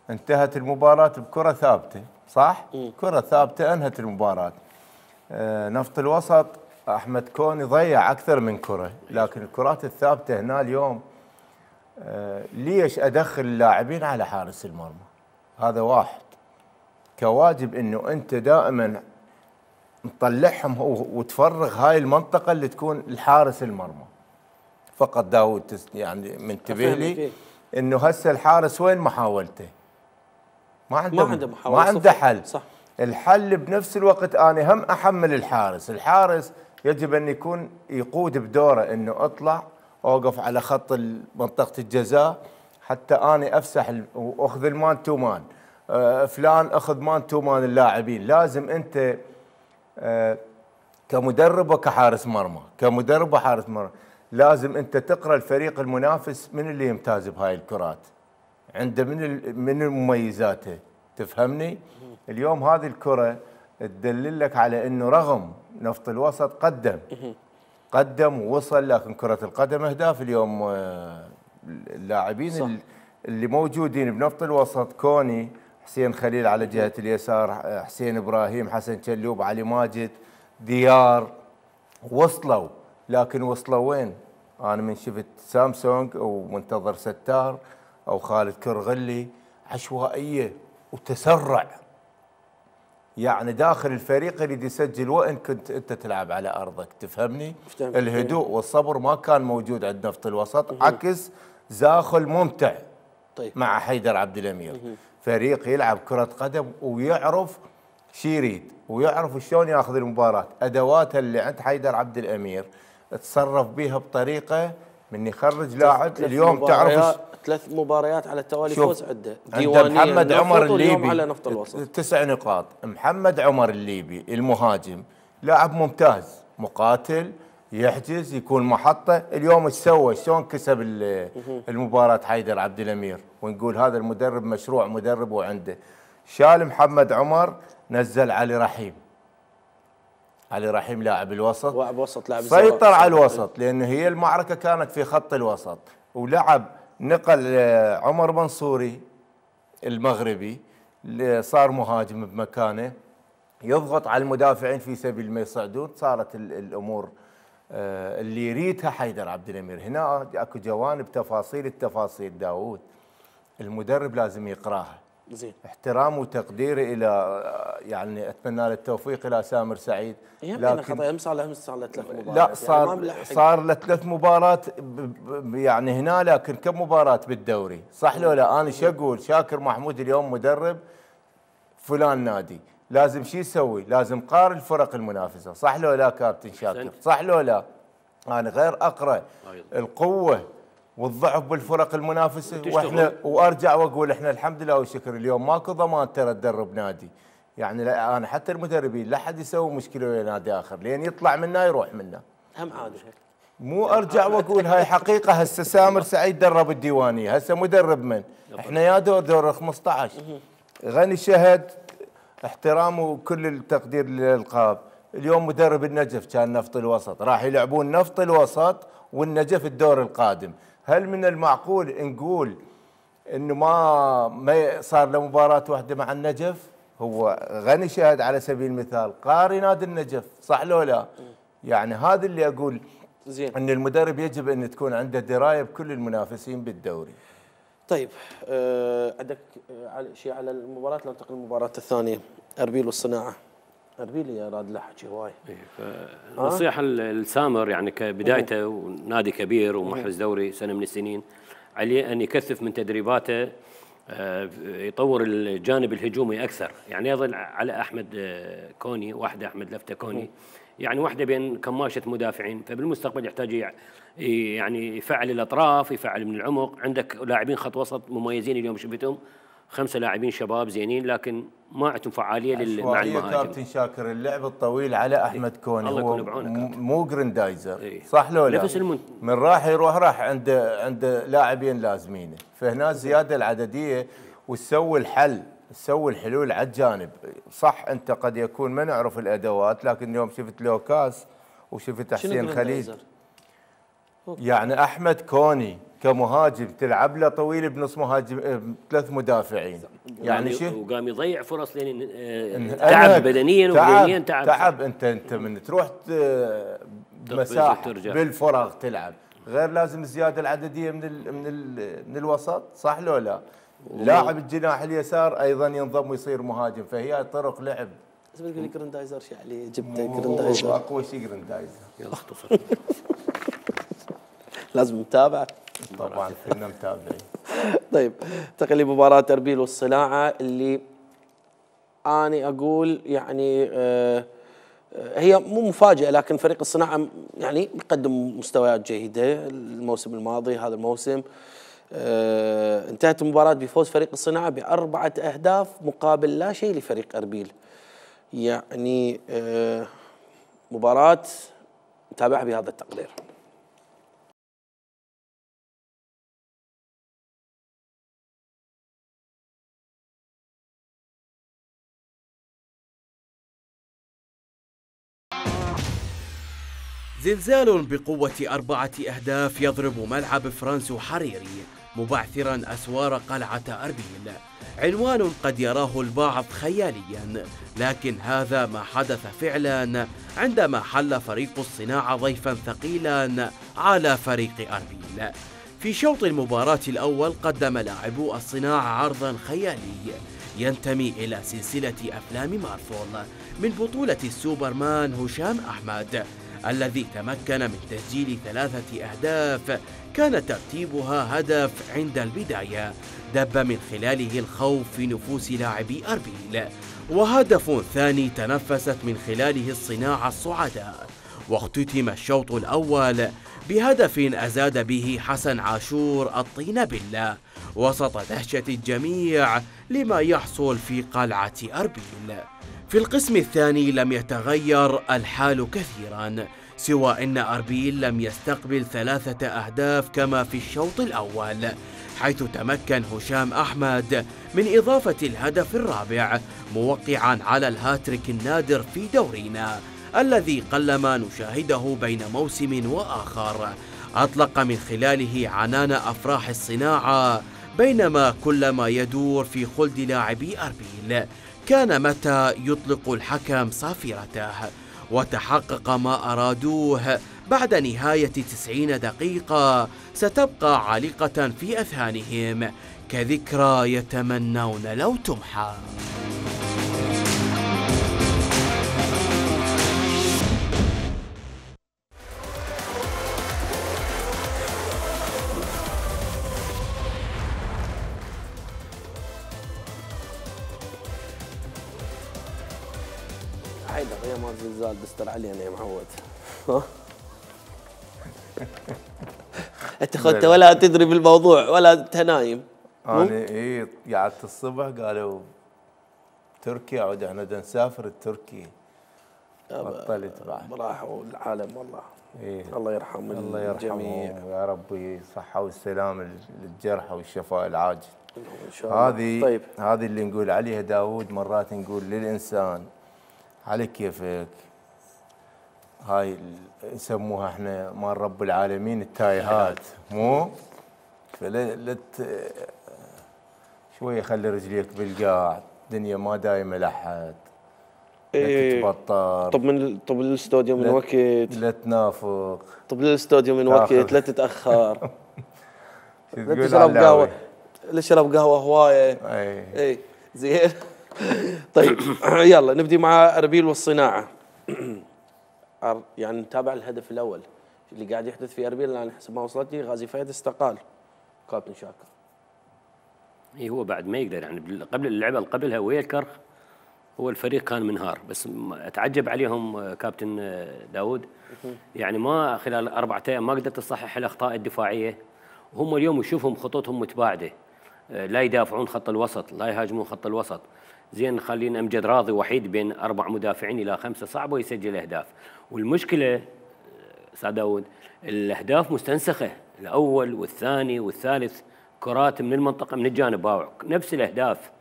انتهت المباراه بكره ثابته، صح؟ كره ثابته انهت المباراه. نفط الوسط احمد كوني ضيع اكثر من كره، لكن الكرات الثابته هنا اليوم ليش ادخل اللاعبين على حارس المرمى؟ هذا واحد. كواجب انه انت دائما نطلعهم وتفرغ هاي المنطقه اللي تكون الحارس المرمى. فقط داود يعني منتبه لي انه هسه الحارس وين محاولته؟ ما عنده ما عنده محاولة، ما عنده حل. صح. الحل بنفس الوقت انا هم احمل الحارس، الحارس يجب ان يكون يقود بدوره انه اطلع اوقف على خط منطقه الجزاء حتى اني افسح واخذ المان تو مان. آه فلان اخذ مان تو مان اللاعبين. لازم انت آه كمدرب وكحارس مرمى، كمدرب وحارس مرمى لازم انت تقرا الفريق المنافس من اللي يمتاز بهاي الكرات، عنده من من مميزاته، تفهمني؟ اليوم هذه الكره تدلل لك على انه رغم نفط الوسط قدم قدم ووصل، لكن كره القدم اهداف اليوم. آه اللاعبين اللي موجودين بنفط الوسط كوني، حسين خليل على جهة اليسار، حسين إبراهيم، حسن شلوب، علي ماجد، ديار، وصلوا. لكن وصلوا وين؟ أنا من شفت سامسونج أو منتظر ستار أو خالد كرغلي عشوائية وتسرع، يعني داخل الفريق يريد يسجل وإن كنت أنت تلعب على أرضك، تفهمني؟ الهدوء والصبر ما كان موجود عند نفط الوسط، عكس زاخو الممتع. طيب. مع حيدر عبد الأمير. فريق يلعب كرة قدم ويعرف شي يريد ويعرف شلون ياخذ المباراة. أدواتها اللي عند حيدر عبد الأمير تصرف بها بطريقة من يخرج لاعب. اليوم تعرف ثلاث مباريات على التوالي فوز عنده. عنده محمد عمر الليبي على نفط الوسط تسع نقاط. محمد عمر الليبي المهاجم لاعب ممتاز، مقاتل، يحجز، يكون محطة. اليوم ايش سوى؟ شلون كسب المباراة حيدر عبد الأمير؟ ونقول هذا المدرب مشروع مدرب وعنده. شال محمد عمر، نزل علي رحيم. علي رحيم لاعب الوسط، لاعب وسط، لاعب سيطر على الوسط لأنه هي المعركة كانت في خط الوسط، ولعب نقل عمر منصوري المغربي اللي صار مهاجم بمكانه يضغط على المدافعين في سبيل ما يصعدون. صارت الأمور اللي يريدها حيدر عبد الأمير. هنا اكو جوانب تفاصيل التفاصيل داوود المدرب لازم يقراها. زين. احترام وتقدير الى يعني اتمنى له التوفيق الى سامر سعيد. لكن خطأ صار له صار له ثلاث مباريات. لا صار يعني صار له ثلاث مباريات يعني هنا، لكن كم مباراة بالدوري؟ صح لو لا؟ انا شو اقول؟ شاكر محمود اليوم مدرب فلان نادي، لازم شو يسوي؟ لازم قارن الفرق المنافسه، صح لو لا كابتن شاكر؟ صح لو لا؟ انا غير اقرا القوه والضعف بالفرق المنافسه، واحنا وارجع واقول احنا الحمد لله والشكر اليوم ماكو ضمان ترى تدرب نادي، يعني لا انا حتى المدربين لا حد يسوي مشكله ويا نادي اخر لين يطلع منا يروح منا. هم عادي مو ارجع واقول هاي حقيقه. هسه سامر سعيد درب الديوانيه، هسه مدرب من؟ احنا يا دور دور خمسة عشر. غني شهد احترام وكل التقدير للالقاب، اليوم مدرب النجف كان نفط الوسط، راح يلعبون نفط الوسط والنجف الدور القادم. هل من المعقول نقول انه ما ما صار له مباراه واحده مع النجف؟ هو غني شهد على سبيل المثال قاري نادي النجف، صح لو لا؟ يعني هذا اللي اقول زين ان المدرب يجب ان تكون عنده درايه بكل المنافسين بالدوري. طيب أه عندك شيء على المباراه؟ ننتقل للمباراه الثانيه، اربيل والصناعه. اربيل يا راد له حكي هواي. نصيحه لسامر يعني كبدايته ونادي كبير ومحرز دوري سنه من السنين، عليه ان يكثف من تدريباته، يطور الجانب الهجومي اكثر، يعني يظل على احمد كوني، واحده احمد لفته كوني، يعني واحده بين كماشه مدافعين، فبالمستقبل يحتاج يعني يفعل الاطراف، يفعل من العمق. عندك لاعبين خط وسط مميزين اليوم شفتهم، خمسه لاعبين شباب زينين لكن ما عندهم فعاليه مع المهاجم. كابتن شاكر اللعب الطويل على احمد كوني هو مو جريندايزر، إيه؟ صح لو لا؟ المن... من راح يروح راح عند عند لاعبين لازمينه، فهنا الزياده العدديه وتسوي الحل، تسوي الحلول على الجانب. صح انت قد يكون ما نعرف الادوات، لكن اليوم شفت لوكاس وشفت حسين خليل، يعني احمد كوني كمهاجم تلعب له طويل بنص مهاجم ثلاث مدافعين، يعني شو وقام يضيع فرص لين تعب بدنيا وبدنيا تعب تعب انت انت من تروح مساحه بالفراغ تلعب، غير لازم الزياده العدديه من ال من ال من الوسط، صح لو لا؟ لاعب الجناح اليسار ايضا ينضم ويصير مهاجم، فهي طرق لعب. بس بتقول لي جريندايزر شو عليه؟ جبت جريندايزر اقوى شيء جريندايزر. يلا اختصر. لازم متابعه طبعا كنا متابعين. طيب تقلي مباراة اربيل والصناعة اللي أنا أقول يعني آه هي مو مفاجأة، لكن فريق الصناعة يعني يقدم مستويات جيدة الموسم الماضي هذا الموسم. آه انتهت المباراة بفوز فريق الصناعة بأربعة أهداف مقابل لا شيء لفريق أربيل. يعني آه مباراة نتابعها بهذا التقدير. زلزال بقوة أربعة أهداف يضرب ملعب فرانسو حريري مبعثرا أسوار قلعة أربيل، عنوان قد يراه البعض خياليا، لكن هذا ما حدث فعلا عندما حل فريق الصناعة ضيفا ثقيلا على فريق أربيل. في شوط المباراة الأول قدم لاعبو الصناعة عرضا خيالي ينتمي إلى سلسلة أفلام مارفول من بطولة السوبرمان هشام أحمد، الذي تمكن من تسجيل ثلاثة أهداف كان ترتيبها هدف عند البداية دب من خلاله الخوف في نفوس لاعبي أربيل، وهدف ثاني تنفست من خلاله الصناعة الصعداء. واختتم الشوط الأول بهدف أزاد به حسن عاشور الطين بالله وسط دهشة الجميع لما يحصل في قلعة أربيل. في القسم الثاني لم يتغير الحال كثيرا، سوى أن أربيل لم يستقبل ثلاثة أهداف كما في الشوط الأول، حيث تمكن هشام أحمد من إضافة الهدف الرابع موقعا على الهاتريك النادر في دورينا الذي قلما نشاهده بين موسم وآخر، أطلق من خلاله عنان أفراح الصناعة، بينما كل ما يدور في خلد لاعبي أربيل كان متى يطلق الحكم صافرته، وتحقق ما أرادوه بعد نهاية تسعين دقيقة ستبقى عالقة في أذهانهم كذكرى يتمنون لو تمحى. حيدر يا مال زلزال دستر علينا يا معود. ها انت خدت ولا تدري بالموضوع ولا انت نايم؟ انا اي قعدت الصبح قالوا تركيا عود احنا بدنا نسافر لتركيا. بطلت بعد. راحوا العالم والله. إيه. الله يرحم الله يرحمهم ويا ربي الصحة والسلامة للجرحى والشفاء العاجل. ان شاء الله. هذه طيب. هذه اللي نقول عليها داوود مرات نقول للإنسان على كيفك. هاي نسموها احنا مال رب العالمين التايهات مو؟ فلا شوية خلي رجليك بالقاع، الدنيا ما دايمة لحد. إيه. لا تتبطر. طب من طب الاستوديو من وقت. لا تنافق. طب الاستوديو من وقت، لا تتأخر. لا تشرب على قهوة. لا تشرب قهوة هواية. اي اي زين. طيب يلا نبدي مع اربيل والصناعة. يعني نتابع الهدف الأول اللي قاعد يحدث في اربيل. الآن حسب ما وصلتني غازي فهد استقال كابتن شاكر. اي هو بعد ما يقدر يعني قبل اللعبة اللي قبلها ويا الكرخ هو الفريق كان منهار، بس اتعجب عليهم كابتن داود يعني ما خلال أربعة أيام ما قدرت تصحح الأخطاء الدفاعية، وهم اليوم يشوفهم خطوطهم متباعدة، لا يدافعون خط الوسط، لا يهاجمون خط الوسط. زين خلينا أمجد راضي وحيد بين أربع مدافعين إلى خمسة صعب ويسجل أهداف. والمشكلة أستاذ داود الأهداف مستنسخة، الأول والثاني والثالث كرات من المنطقة من الجانب باوع نفس الأهداف.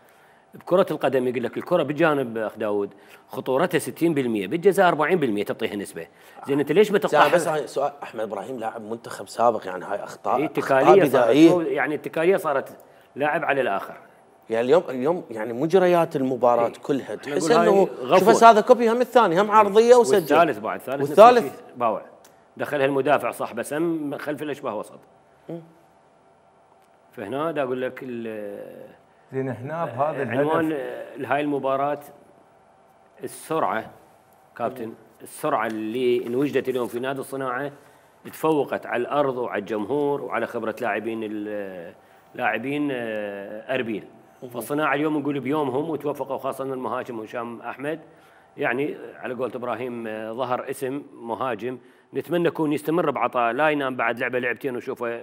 بكرة القدم يقول لك الكرة بالجانب أخ داود خطورتها ستين بالمئة، بالجزاء أربعين بالمئة تعطيها نسبة. زين أنت ليش بتقطع؟ بس هاي سؤال أحمد إبراهيم لاعب منتخب سابق، يعني هاي أخطاء اتكالية بدائية، يعني الاتكالية صارت لاعب على الآخر. يعني اليوم اليوم يعني مجريات المباراة ايه. كلها تحس انه شوف هذا كوبي هم الثاني هم عرضية وسجل. والثالث بعد ثالث والثالث باوع دخلها المدافع صح بس هم خلف الاشباه وسط. فهنا دا اقول لك زين هنا بهذا الهدف عنوان هاي المباراة السرعة كابتن، السرعة اللي انوجدت اليوم في نادي الصناعة تفوقت على الارض وعلى الجمهور وعلى خبرة لاعبين لاعبين اربيل. فالصناعة اليوم نقول بيومهم وتوفقوا خاصة المهاجم هشام احمد، يعني على قولة ابراهيم ظهر اسم مهاجم نتمنى يكون يستمر بعطاء، لا ينام بعد لعبة لعبتين وشوفه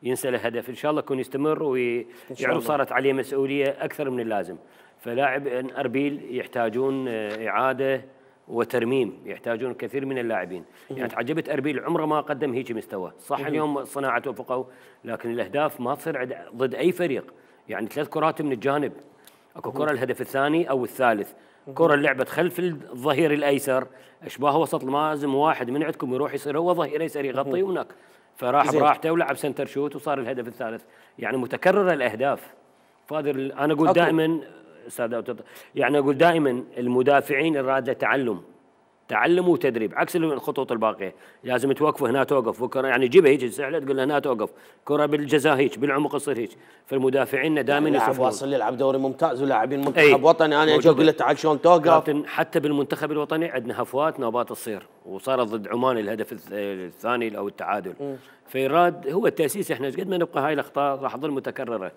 ينسى له هدف، ان شاء الله يكون يستمر ويعرف صارت عليه مسؤولية اكثر من اللازم. فلاعب اربيل يحتاجون اعادة وترميم، يحتاجون كثير من اللاعبين. يعني تعجبت اربيل عمره ما قدم هيك مستوى، صح اليوم الصناعة توفقوا لكن الاهداف ما تصير ضد اي فريق، يعني ثلاث كرات من الجانب، اكو كره الهدف الثاني او الثالث، كره لعبت خلف الظهير الايسر، اشباه وسط لازم واحد من عندكم يروح يصير هو ظهير ايسر يغطي هناك، فراح براحته ولعب سنتر شوت وصار الهدف الثالث. يعني متكرره الاهداف. فاضل انا اقول دائما استاذ يعني اقول دائما المدافعين الرادة تعلم تعلم وتدريب عكس الخطوط الباقيه، لازم توقف هنا توقف بكره يعني جيبها هيك سهله تقول له هنا توقف، كره بالجزاء هيك بالعمق تصير هيك، فالمدافعين دائما لاعب واصل يلعب دوري ممتاز ولاعبين منتخب أي. وطني انا اجي اقول له تعال شلون توقف. حتى بالمنتخب الوطني عندنا هفوات نوبات تصير، وصارت ضد عمان الهدف الثاني او التعادل. م. فيراد هو التاسيس، احنا قد ما نبقى هاي الاخطاء راح تظل متكرره.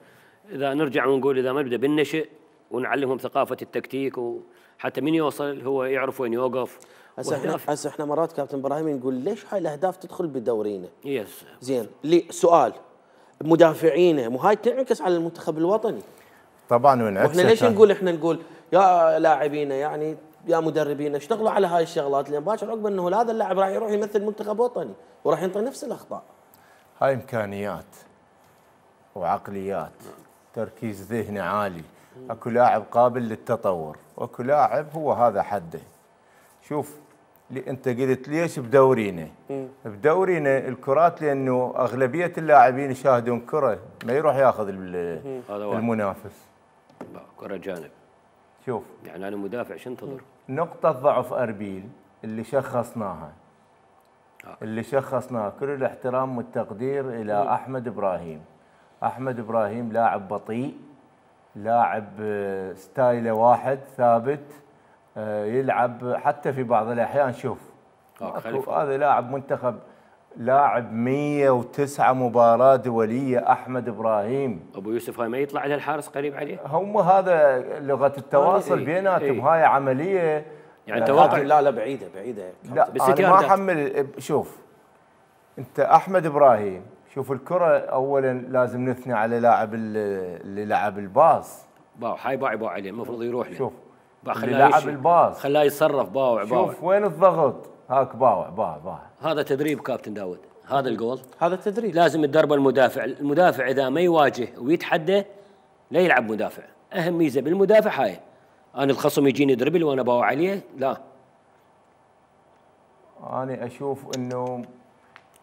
اذا نرجع ونقول اذا ما نبدا بالنشئ ونعلمهم ثقافه التكتيك وحتى من يوصل هو يعرف وين يوقف. هسه احنا هسه احنا مرات كابتن ابراهيم نقول ليش هاي الاهداف تدخل بدورينا؟ يس زين لي سؤال مدافعينه مو هاي تنعكس على المنتخب الوطني طبعا وانعكس. واحنا ليش نقول احنا نقول يا لاعبينا يعني يا مدربين اشتغلوا على هاي الشغلات لان باكر عقب انه هذا اللاعب راح يروح يمثل منتخب وطني وراح ينطي نفس الاخطاء. هاي امكانيات وعقليات، تركيز ذهني عالي، اكو لاعب قابل للتطور واكو لاعب هو هذا حده. شوف انت قلت ليش بدورينا؟ بدورينا الكرات لانه اغلبيه اللاعبين يشاهدون كره ما يروح ياخذ المنافس كره جانب. شوف يعني انا مدافع شو انتظر؟ نقطه ضعف اربيل اللي شخصناها آه. اللي شخصناها كل الاحترام والتقدير الى م. احمد ابراهيم. احمد ابراهيم لاعب بطيء، لاعب ستايله واحد ثابت، يلعب حتى في بعض الاحيان. شوف هذا لاعب منتخب، لاعب مئة وتسعة مباراة دولية احمد ابراهيم. ابو يوسف هاي ما يطلع على الحارس قريب عليه؟ هم هذا لغة التواصل بيناتهم. هاي عملية يعني توقع لا لا بعيده بعيده لا انا ما احمل. شوف انت احمد ابراهيم، شوف الكره اولا لازم نثني على لاعب اللي لعب الباص. باو هاي باع باع عليه المفروض يروح له. شوف اللي لعب الباص خلاه يتصرف باوع باوع. شوف وين الضغط، هاك باوع باوع باوع. هذا تدريب كابتن داود، هذا الجول هذا تدريب لازم تدرب المدافع. المدافع اذا ما يواجه ويتحدى لا يلعب مدافع. اهم ميزه بالمدافع هاي، انا الخصم يجيني دربل وانا باوع عليه لا. انا اشوف انه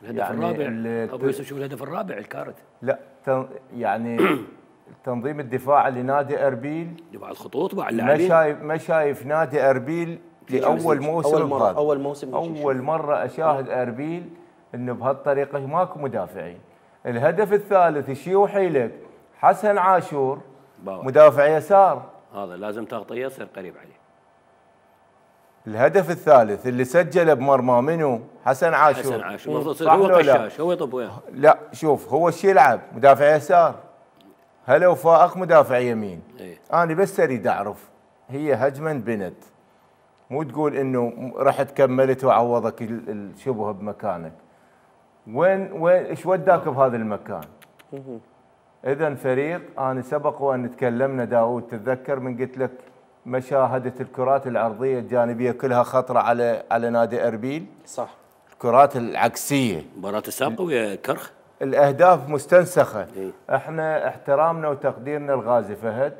الهدف يعني الرابع ابو يوسف، شوف الهدف الرابع الكارت. لا يعني تنظيم الدفاع لنادي اربيل دفاع الخطوط مع اللاعبين. ما شايف ما شايف نادي اربيل لاول موسم اول مره اول موسم اول مره اشاهد اربيل انه بهالطريقه ماكو مدافعين. الهدف الثالث يشيوحي لك حسن عاشور باو. مدافع يسار، هذا لازم تغطيه يصير قريب عليه. الهدف الثالث اللي سجله بمرمى منو؟ حسن عاشور. حسن عاشور المفروض يصير هو قشاش، هو يطب وياه. لا شوف هو ايش يلعب؟ مدافع يسار. هلا وفائق مدافع يمين. إيه؟ انا بس اريد اعرف هي هجمه بنت، مو تقول انه رحت كملت وعوضك الشبهه بمكانك. وين وين ايش وداك بهذا المكان؟ اذا فريق، انا سبق وان تكلمنا داوود تتذكر من قلت لك مشاهده الكرات العرضيه الجانبيه كلها خطره على على نادي اربيل. صح. الكرات العكسيه مباراه السابقه ويا كرخ الاهداف مستنسخه. إيه؟ احنا احترامنا وتقديرنا الغازي فهد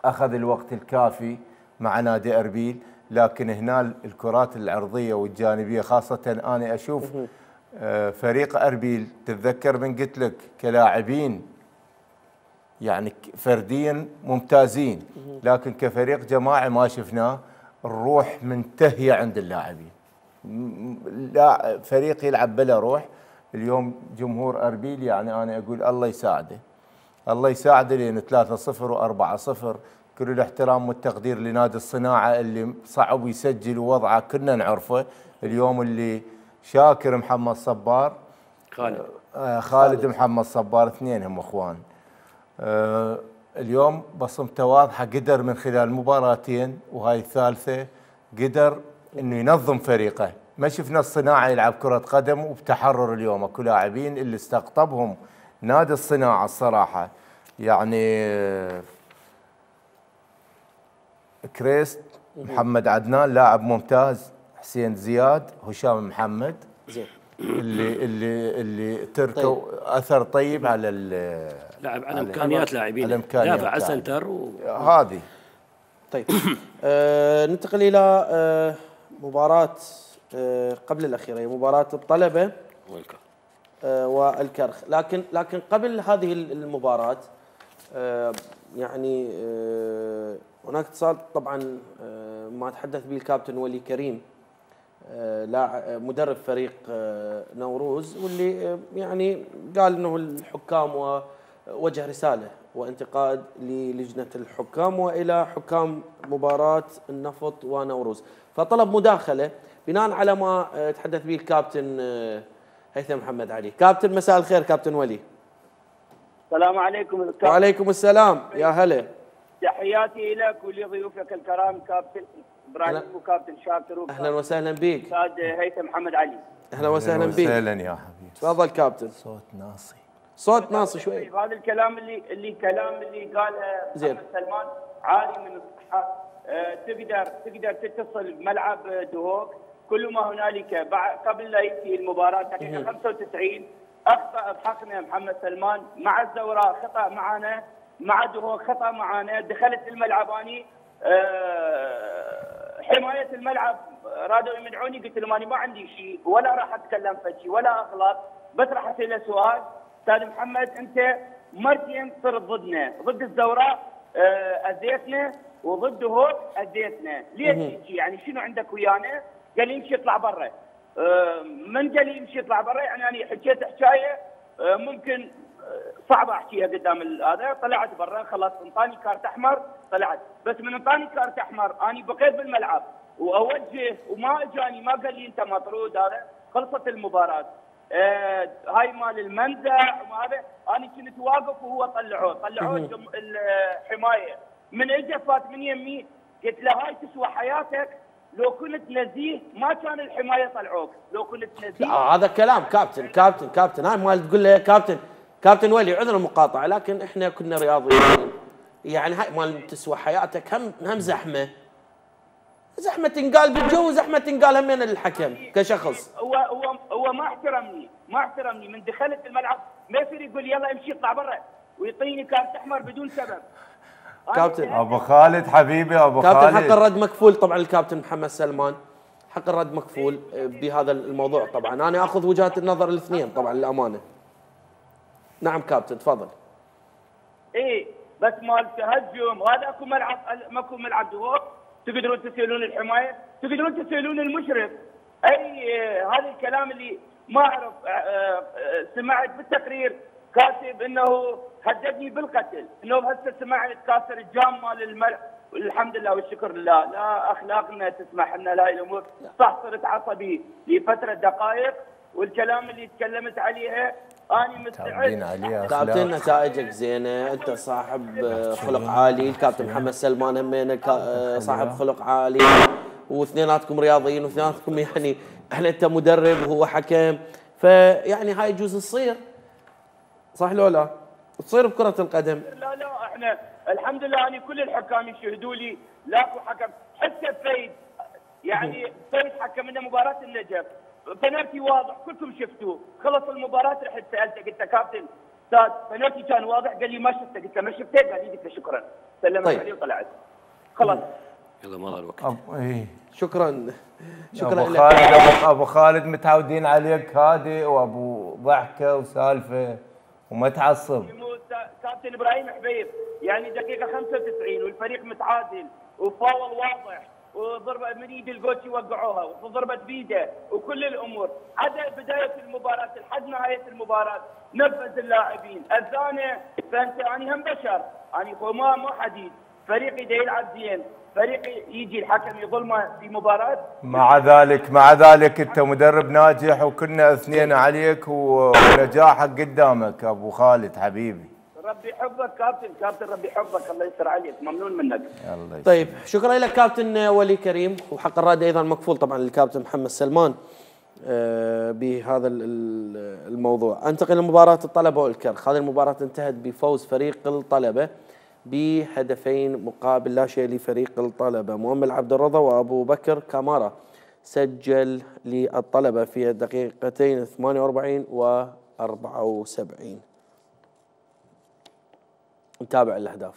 اخذ الوقت الكافي مع نادي اربيل، لكن هنا الكرات العرضيه والجانبيه خاصه انا اشوف فريق اربيل تتذكر من قلت لك كلاعبين يعني فرديا ممتازين، لكن كفريق جماعي ما شفناه. الروح منتهيه عند اللاعبين، لا فريق يلعب بلا روح. اليوم جمهور اربيل يعني انا اقول الله يساعده، الله يساعده لان ثلاثة صفر وأربعة صفر. كل الاحترام والتقدير لنادي الصناعه اللي صعب يسجل ووضعه كنا نعرفه. اليوم اللي شاكر محمد صبار خالد آه خالد محمد صبار، اثنين هم اخوان. آه اليوم بصمته واضحه، قدر من خلال مباراتين وهاي الثالثه قدر انه ينظم فريقه. ما شفنا الصناعه يلعب كره قدم وبتحرر اليوم. اكو لاعبين اللي استقطبهم نادي الصناعه الصراحه يعني آه كريست، محمد عدنان لاعب ممتاز، حسين زياد، هشام محمد زين اللي اللي اللي تركوا طيب. اثر طيب على لاعب على امكانيات لاعبين، دافع على سنتر و... هذه. طيب آه ننتقل الى آه مباراه آه قبل الاخيره، هي مباراه الطلبه والكرخ آه والكرخ. لكن لكن قبل هذه المباراه آه يعني آه هناك اتصال طبعا آه ما تحدث به الكابتن ولي كريم آه لاعب مدرب فريق آه نوروز، واللي آه يعني قال انه الحكام ووجه رساله وانتقاد للجنه الحكام والى حكام مباراه النفط ونوروز، فطلب مداخله بناء على ما آه تحدث به الكابتن آه هيثم محمد علي. كابتن مساء الخير كابتن ولي. السلام عليكم. وعليكم السلام، يا هلا. تحياتي لك ولضيوفك الكرام كابتن ابراهيم وكابتن شاكر. اهلا وسهلا بك. استاذ هيثم محمد علي. اهلا وسهلا بك. وسهلا يا حبيبي. تفضل كابتن. صوت ناصي. صوت ناصي شوي. هذا الكلام اللي اللي كلام اللي قاله محمد سلمان عالي من الصحه. أه تقدر تقدر تتصل بملعب دهوك، كل ما هنالك قبل لا ينتهي المباراه دقيقه خمسة وتسعين اخطا بحقنا محمد سلمان، مع الزوراء خطا معنا، مع دهوك خطا معنا. دخلت الملعب اني أه حمايه الملعب رادوا يمنعوني، قلت لهم انا ما عندي شيء ولا راح اتكلم فشي ولا اغلط، بس راح اساله سؤال. استاذ محمد انت مرتين صرت ضدنا، ضد الزوراء أه اذيتنا وضد دهوك اذيتنا، ليش يعني شنو عندك ويانا؟ قال لي يمشي يطلع برا. أه من قال لي يمشي يطلع برا؟ يعني انا حكيت حكايه أه ممكن صعب احكيها قدام هذا. طلعت برا خلاص، انطاني كارت احمر طلعت، بس من انطاني كارت احمر اني بقيت بالملعب واوجه وما اجاني، ما قال لي انت مطرود، هذا خلصت المباراه. آه هاي مال المنزع وهذا انا كنت واقف وهو طلعوه طلعوه الحمايه. من اجى فات من يمي قلت له هاي تسوى حياتك لو كنت نزيه ما كان الحمايه طلعوك، لو كنت نزيه. آه هذا كلام كابتن كابتن كابتن هاي مال تقول له كابتن كابتن ولي عذر المقاطعه، لكن احنا كنا رياضيين يعني هاي مال تسوى حياتك هم هم زحمه زحمه تنقال بالجو وزحمه تنقال همين الحكم كشخص. هو هو هو ما احترمني ما احترمني من دخلت الملعب ما يصير يقول يلا امشي اطلع برا ويعطيني كارت احمر بدون سبب. كابتن ابو خالد حبيبي ابو كابتن خالد حق الرد مكفول طبعا الكابتن محمد سلمان حق الرد مكفول بهذا الموضوع طبعا انا اخذ وجهات النظر الاثنين طبعا للامانه. نعم كابتن تفضل. ايه بس مال تهجم وهذا اكو ملعب ماكو ملعب دوق تقدرون تسالون الحمايه تقدرون تسالون المشرف. اي هذا الكلام اللي ما اعرف سمعت بالتقرير كاتب انه هددني بالقتل انه هسه سمعت كاسر الجام مال الملعب. الحمد لله والشكر لله لا اخلاقنا تسمح لنا لا الامور. صح صرت عصبي لفتره دقائق والكلام اللي تكلمت عليها انا مستعد. كابتن نتائجك زينه انت صاحب خلق عالي الكابتن محمد سلمان همينه صاحب خلق عالي واثنيناتكم رياضيين واثنيناتكم يعني احنا انت مدرب وهو حكم فيعني هاي يجوز تصير صح لو لا؟ تصير بكرة القدم. لا لا احنا الحمد لله انا كل الحكام يشهدوا لي لاكو حكم حتى فايد يعني فايد حكم لنا مباراة النجف بنالتي واضح كلكم شفتوه خلص المباراة رحت سالته قلت له كابتن استاذ بنالتي كان واضح قال لي ما شفته قلت له ما شفته قال لي قلت له شكرا سلمت طيب. علي وطلعت خلاص. يلا ما الوقت. ايه شكرا شكرا ابو خالد ابو, أبو خالد متعودين عليك هادئ وابو ضحكه وسالفه وما تعصب. كابتن ابراهيم حبيب يعني دقيقه خمسة وتسعين والفريق متعادل وفاول واضح وضربه من ايد الجوتشي وقعوها وضربه بيده وكل الامور عدا بدايه المباراه لحد نهايه المباراه نفذ اللاعبين اذانه فانت اني هم بشر اني ما مو حديد فريقي دا يلعب زين فريقي يجي الحكم يظلمه في مباراه. مع ذلك مع ذلك انت مدرب ناجح وكنا اثنين عليك ونجاحك قدامك ابو خالد حبيبي. ربي يحفظك كابتن كابتن ربي يحفظك الله يستر عليك ممنون منك. الله طيب شكرا لك كابتن ولي كريم وحق الرد ايضا مكفول طبعا للكابتن محمد سلمان بهذا الموضوع. انتقل لمباراه الطلبه والكرخ. هذه المباراه انتهت بفوز فريق الطلبه بهدفين مقابل لا شيء لفريق الطلبه. مؤمل عبد الرضا وابو بكر كامارا سجل للطلبه في الدقيقتين ثمانية وأربعين و أربعة وسبعين. نتابع الاهداف.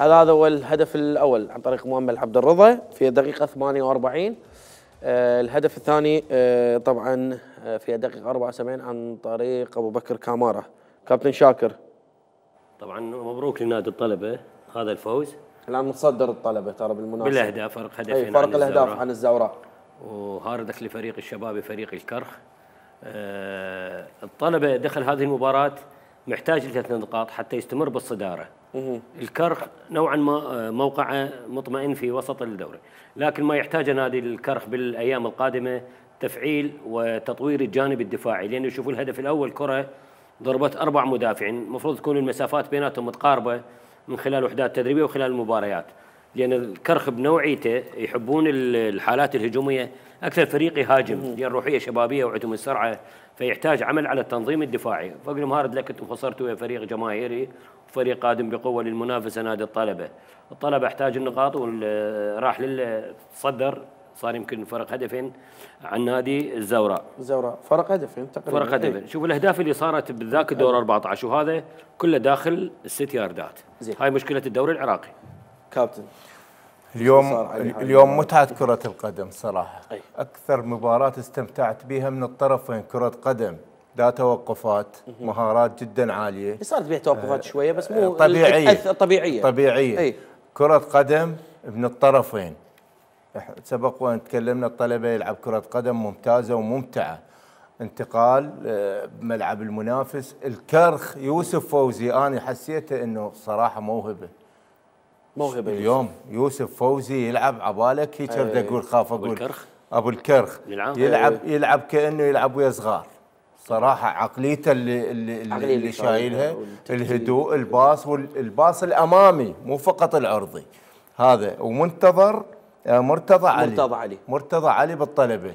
هذا هو الهدف الاول عن طريق مؤمل عبد الرضا في الدقيقه ثمانية وأربعين. آه الهدف الثاني آه طبعا في الدقيقه أربعة وسبعين عن طريق ابو بكر كامارا. كابتن شاكر طبعا مبروك لنادي الطلبه هذا الفوز. الان متصدر الطلبه ترى بالمناسبه بالاهداف فرق هدفين فرق الاهداف عن الزوراء وهاردك لفريق الشباب فريق الكرخ. آه الطلبه دخل هذه المباراه محتاج لثلاث نقاط حتى يستمر بالصداره. الكرخ نوعا ما موقعه مطمئن في وسط الدوري لكن ما يحتاج نادي الكرخ بالايام القادمه تفعيل وتطوير الجانب الدفاعي لانه شوفوا الهدف الاول كره ضربت اربع مدافعين المفروض تكون المسافات بيناتهم متقاربه من خلال وحدات تدريبيه وخلال المباريات لان الكرخ بنوعيته يحبون الحالات الهجوميه اكثر فريق يهاجم لان روحيه شبابيه وعندهم السرعه فيحتاج عمل على التنظيم الدفاعي. فقل مهارد لك انتم خسرتوا فريق جماهيري وفريق قادم بقوه للمنافسه نادي الطلبه. الطلبه احتاج النقاط وراح للصدر صار يمكن فرق هدفين عن نادي الزوراء. الزوراء فرق هدفين تقريبا. فرق هدفين. شوف الاهداف اللي صارت بالذاك الدور أربعة عشر وهذا كله داخل الست ياردات. زي. هاي مشكله الدوري العراقي. كابتن اليوم اليوم متعه كره القدم صراحه. أي. اكثر مباراه استمتعت بها من الطرفين كره قدم لا توقفات مهارات جدا عاليه. صارت بها توقفات شويه بس مو طبيعيه طبيعيه طبيعيه أي. كره قدم من الطرفين. سبق وان تكلمنا الطلبه يلعب كره قدم ممتازه وممتعه. انتقال بملعب المنافس. الكرخ يوسف فوزي انا حسيته انه صراحه موهبه موهبه اليوم يوسف فوزي يلعب عبالك هيك بدي اقول خاف اقول الكرخ ابو الكرخ يلعب يلعب كانه يلعب ويا صغار صراحه. عقليته اللي اللي, اللي, اللي شايلها، الهدوء، الباص والباص الامامي مو فقط العرضي هذا. ومنتظر مرتضى علي مرتضى علي مرتضى علي بالطلبه.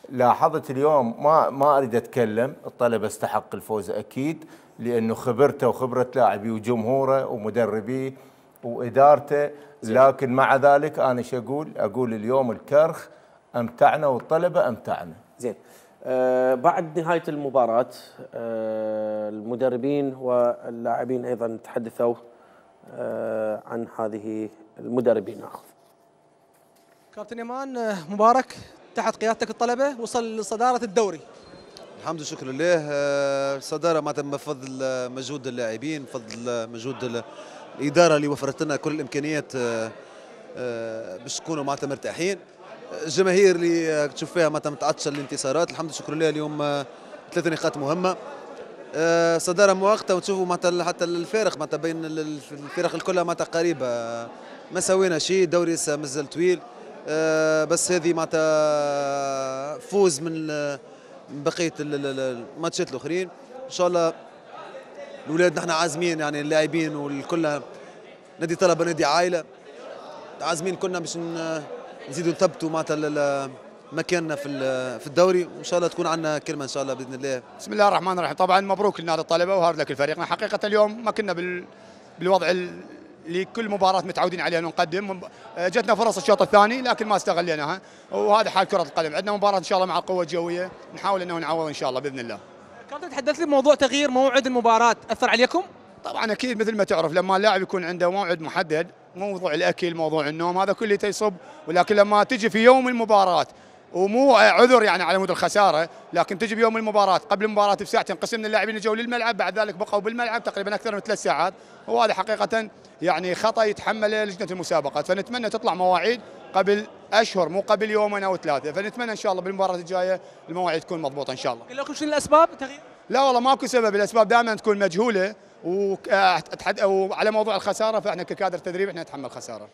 لاحظت اليوم ما ما اريد اتكلم، الطلبه استحق الفوز اكيد لانه خبرته وخبره لاعبيه وجمهوره ومدربيه وادارته، لكن مع ذلك انا شو اقول؟ اقول اليوم الكرخ امتعنا والطلبه امتعنا. زين. آه بعد نهايه المباراه آه المدربين واللاعبين ايضا تحدثوا آه عن هذه المدربين. ناخذ كابتن يمان مبارك تحت قيادتك الطلبه وصل لصداره الدوري. الحمد لله شكر لله. صداره معناتها بفضل مجهود اللاعبين، بفضل مجهود الاداره اللي وفرت لنا كل الامكانيات باش نكونوا معناتها مرتاحين. الجماهير اللي تشوف فيها معناتها متعطشه للانتصارات. الحمد لله شكر لله اليوم ثلاث نقاط مهمه. صداره مؤقته وتشوفوا معناتها حتى الفارق معناتها بين الفرق الكلها معناتها قريبه. ما سوينا شيء، الدوري لسه مازال طويل. بس هذه معناتها فوز من بقيه الماتشات الاخرين. ان شاء الله الاولاد نحن عازمين يعني اللاعبين والكل، نادي طلبه نادي عائله، عازمين كلنا باش نزيدوا نثبتوا معناتها مكاننا في في الدوري، وان شاء الله تكون عندنا كلمه ان شاء الله باذن الله. بسم الله الرحمن الرحيم. طبعا مبروك لنادي الطلبه وهارد لك فريقنا. حقيقه اليوم ما كنا بال بالوضع اللي كل مباراه متعودين عليها نقدم. جتنا فرص الشوط الثاني لكن ما استغليناها، وهذا حال كره القدم. عندنا مباراه ان شاء الله مع القوه الجويه، نحاول انه نعوض ان شاء الله باذن الله. كابتن تحدث لي بموضوع تغيير موعد المباراه، اثر عليكم؟ طبعا اكيد مثل ما تعرف لما اللاعب يكون عنده موعد محدد، موضوع الاكل موضوع النوم هذا كله يصب، ولكن لما تجي في يوم المباراه ومو عذر يعني على مود الخساره، لكن تجي بيوم المباراه قبل المباراه بساعتين قسمنا اللاعبين اللي جو للملعب، بعد ذلك بقوا بالملعب تقريبا اكثر من ثلاث ساعات، وهذا حقيقه يعني خطا يتحمله لجنه المسابقات. فنتمنى تطلع مواعيد قبل اشهر مو قبل يومين او ثلاثه، فنتمنى ان شاء الله بالمباراه الجايه المواعيد تكون مضبوطه ان شاء الله. قال لكم شنو الاسباب تغيير؟ لا والله ماكو سبب، الاسباب دائما تكون مجهوله، وعلى موضوع الخساره فاحنا ككادر تدريب احنا نتحمل خساره.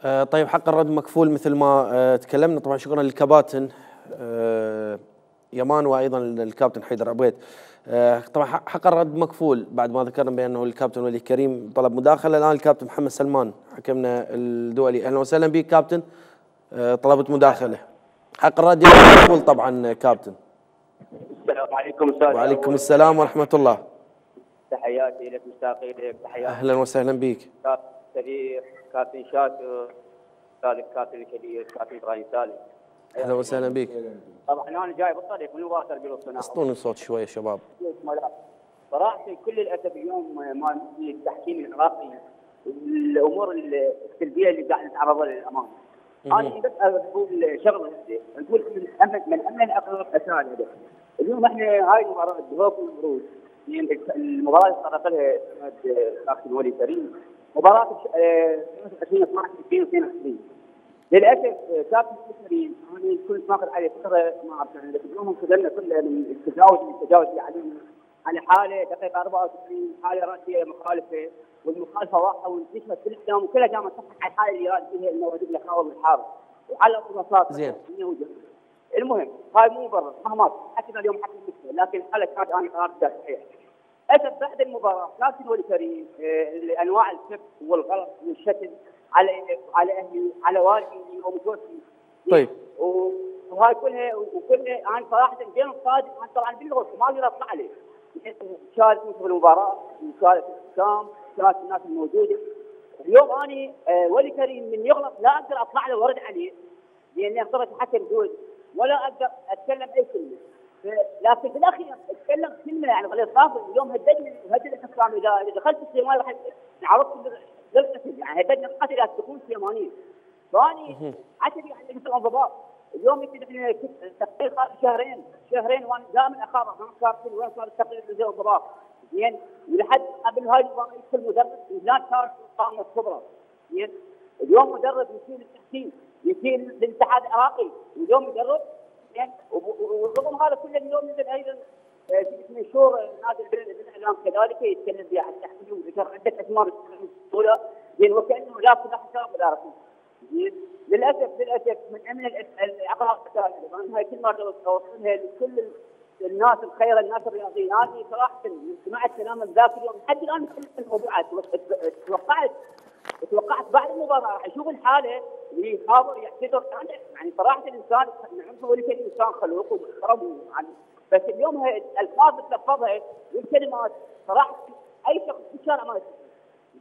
آه طيب حق الرد مكفول مثل ما آه تكلمنا. طبعا شكرا للكباتن آه يمان وايضا الكابتن حيدر عبيد. آه طبعا حق الرد مكفول بعد ما ذكرنا بانه الكابتن ولي كريم طلب مداخله. الان الكابتن محمد سلمان حكمنا الدولي. اهلا وسهلا بك كابتن. آه طلبت مداخله. حق الرد مكفول طبعا كابتن. السلام عليكم استاذ. وعليكم السلام ورحمه الله. تحياتي لك مشتاقين لك. تحياتي. اهلا وسهلا بك. كابتن سليم، كابتن شاكر، استاذ الكابتن الكبير كابتن ابراهيم سالم. اهلا وسهلا بك. طبعا انا جاي بالطريق من وغاصر قلب الصناعه. اسطوني الصوت شويه شباب. صراحه كل الاسف اليوم مال التحكيم العراقي الامور السلبيه اللي قاعد نتعرض لها للامانه. انا بس اقول شغله نقول من امن من امن الاقرب اسال اليوم احنا هاي المباراه بهوك المبروك المباراه اللي طرق لها كابتن ولي كريم مباراه ألفين واثني عشر ألفين واثنين وعشرين. للاسف كابتن كريم انا كنت ماخذ عليه فتره ما اعرف يعني اليوم خذلنا كل من التجاوز التجاوز اللي علينا على حاله دقيقه أربعة وتسعين حاله راسيه مخالفه والمخالفه واضحه وانتشرت في الاعلام وكلها قامت تصحح على الحاله اللي راد فيها انه ودق له خاوه بالحارس وعلى الرصاص. زين. المهم هاي مو مبرر مهما حكينا اليوم حكي المشكله لكن الحاله كانت انا قراري صحيح. اسف بعد المباراه كابتن ولي كريم آه انواع السب والغلط والشتم على على اهلي على والدي ومتوفي. طيب. وهاي كلها وكلها انا صراحه بين الصادق انا طبعا بالغرفه ما اقدر اطلع عليه. شارك في المباراه وشارك الحكام شارك الناس الموجوده. اليوم اني آه ولي كريم من يغلط لا اقدر اطلع له وارد عليه لاني اخترت حكم دولي ولا اقدر اتكلم اي كلمه. لكن في الاخير اتكلم كلمه يعني غير صافي. اليوم هددني هدد الحكام اذا دخلت السيماني راح عرفت للقتل يعني هددني القتل اذا تكون سيمانيه. فاني عتبي يعني مثل الانضباط. اليوم يمكن احنا تقرير صار شهرين شهرين وانا دائما اخابر ما كابتن وين صار التقرير زي الانضباط زين ولحد قبل هاي المباراه يدخل مدرب لا صار قامه كبرى زين. اليوم مدرب يشيل التحكيم يشيل الاتحاد العراقي واليوم مدرب زين ورغم هذا كله اليوم نزل ايضا منشور نادي الاعلام كذلك يتكلم به عن التحكيم عده اسماء البطوله زين وكانه لا لا حساب ولا رسم زين للاسف للاسف من امن العقاب الثانيه هاي كل مره اوصلها لكل الناس الخير الناس الرياضيين هذه صراحه سمعت كلام ذاك اليوم لحد الان مختلف الموضوعات توقعت توقعت بعد المباراه راح اشوف الحاله اللي خابر يعتذر يعني صراحه الانسان نعرفه ولي كان انسان خلوق ومحترم يعني بس اليوم هي الالفاظ اللي تلفظها والكلمات صراحه اي شخص في الشارع ما يسمع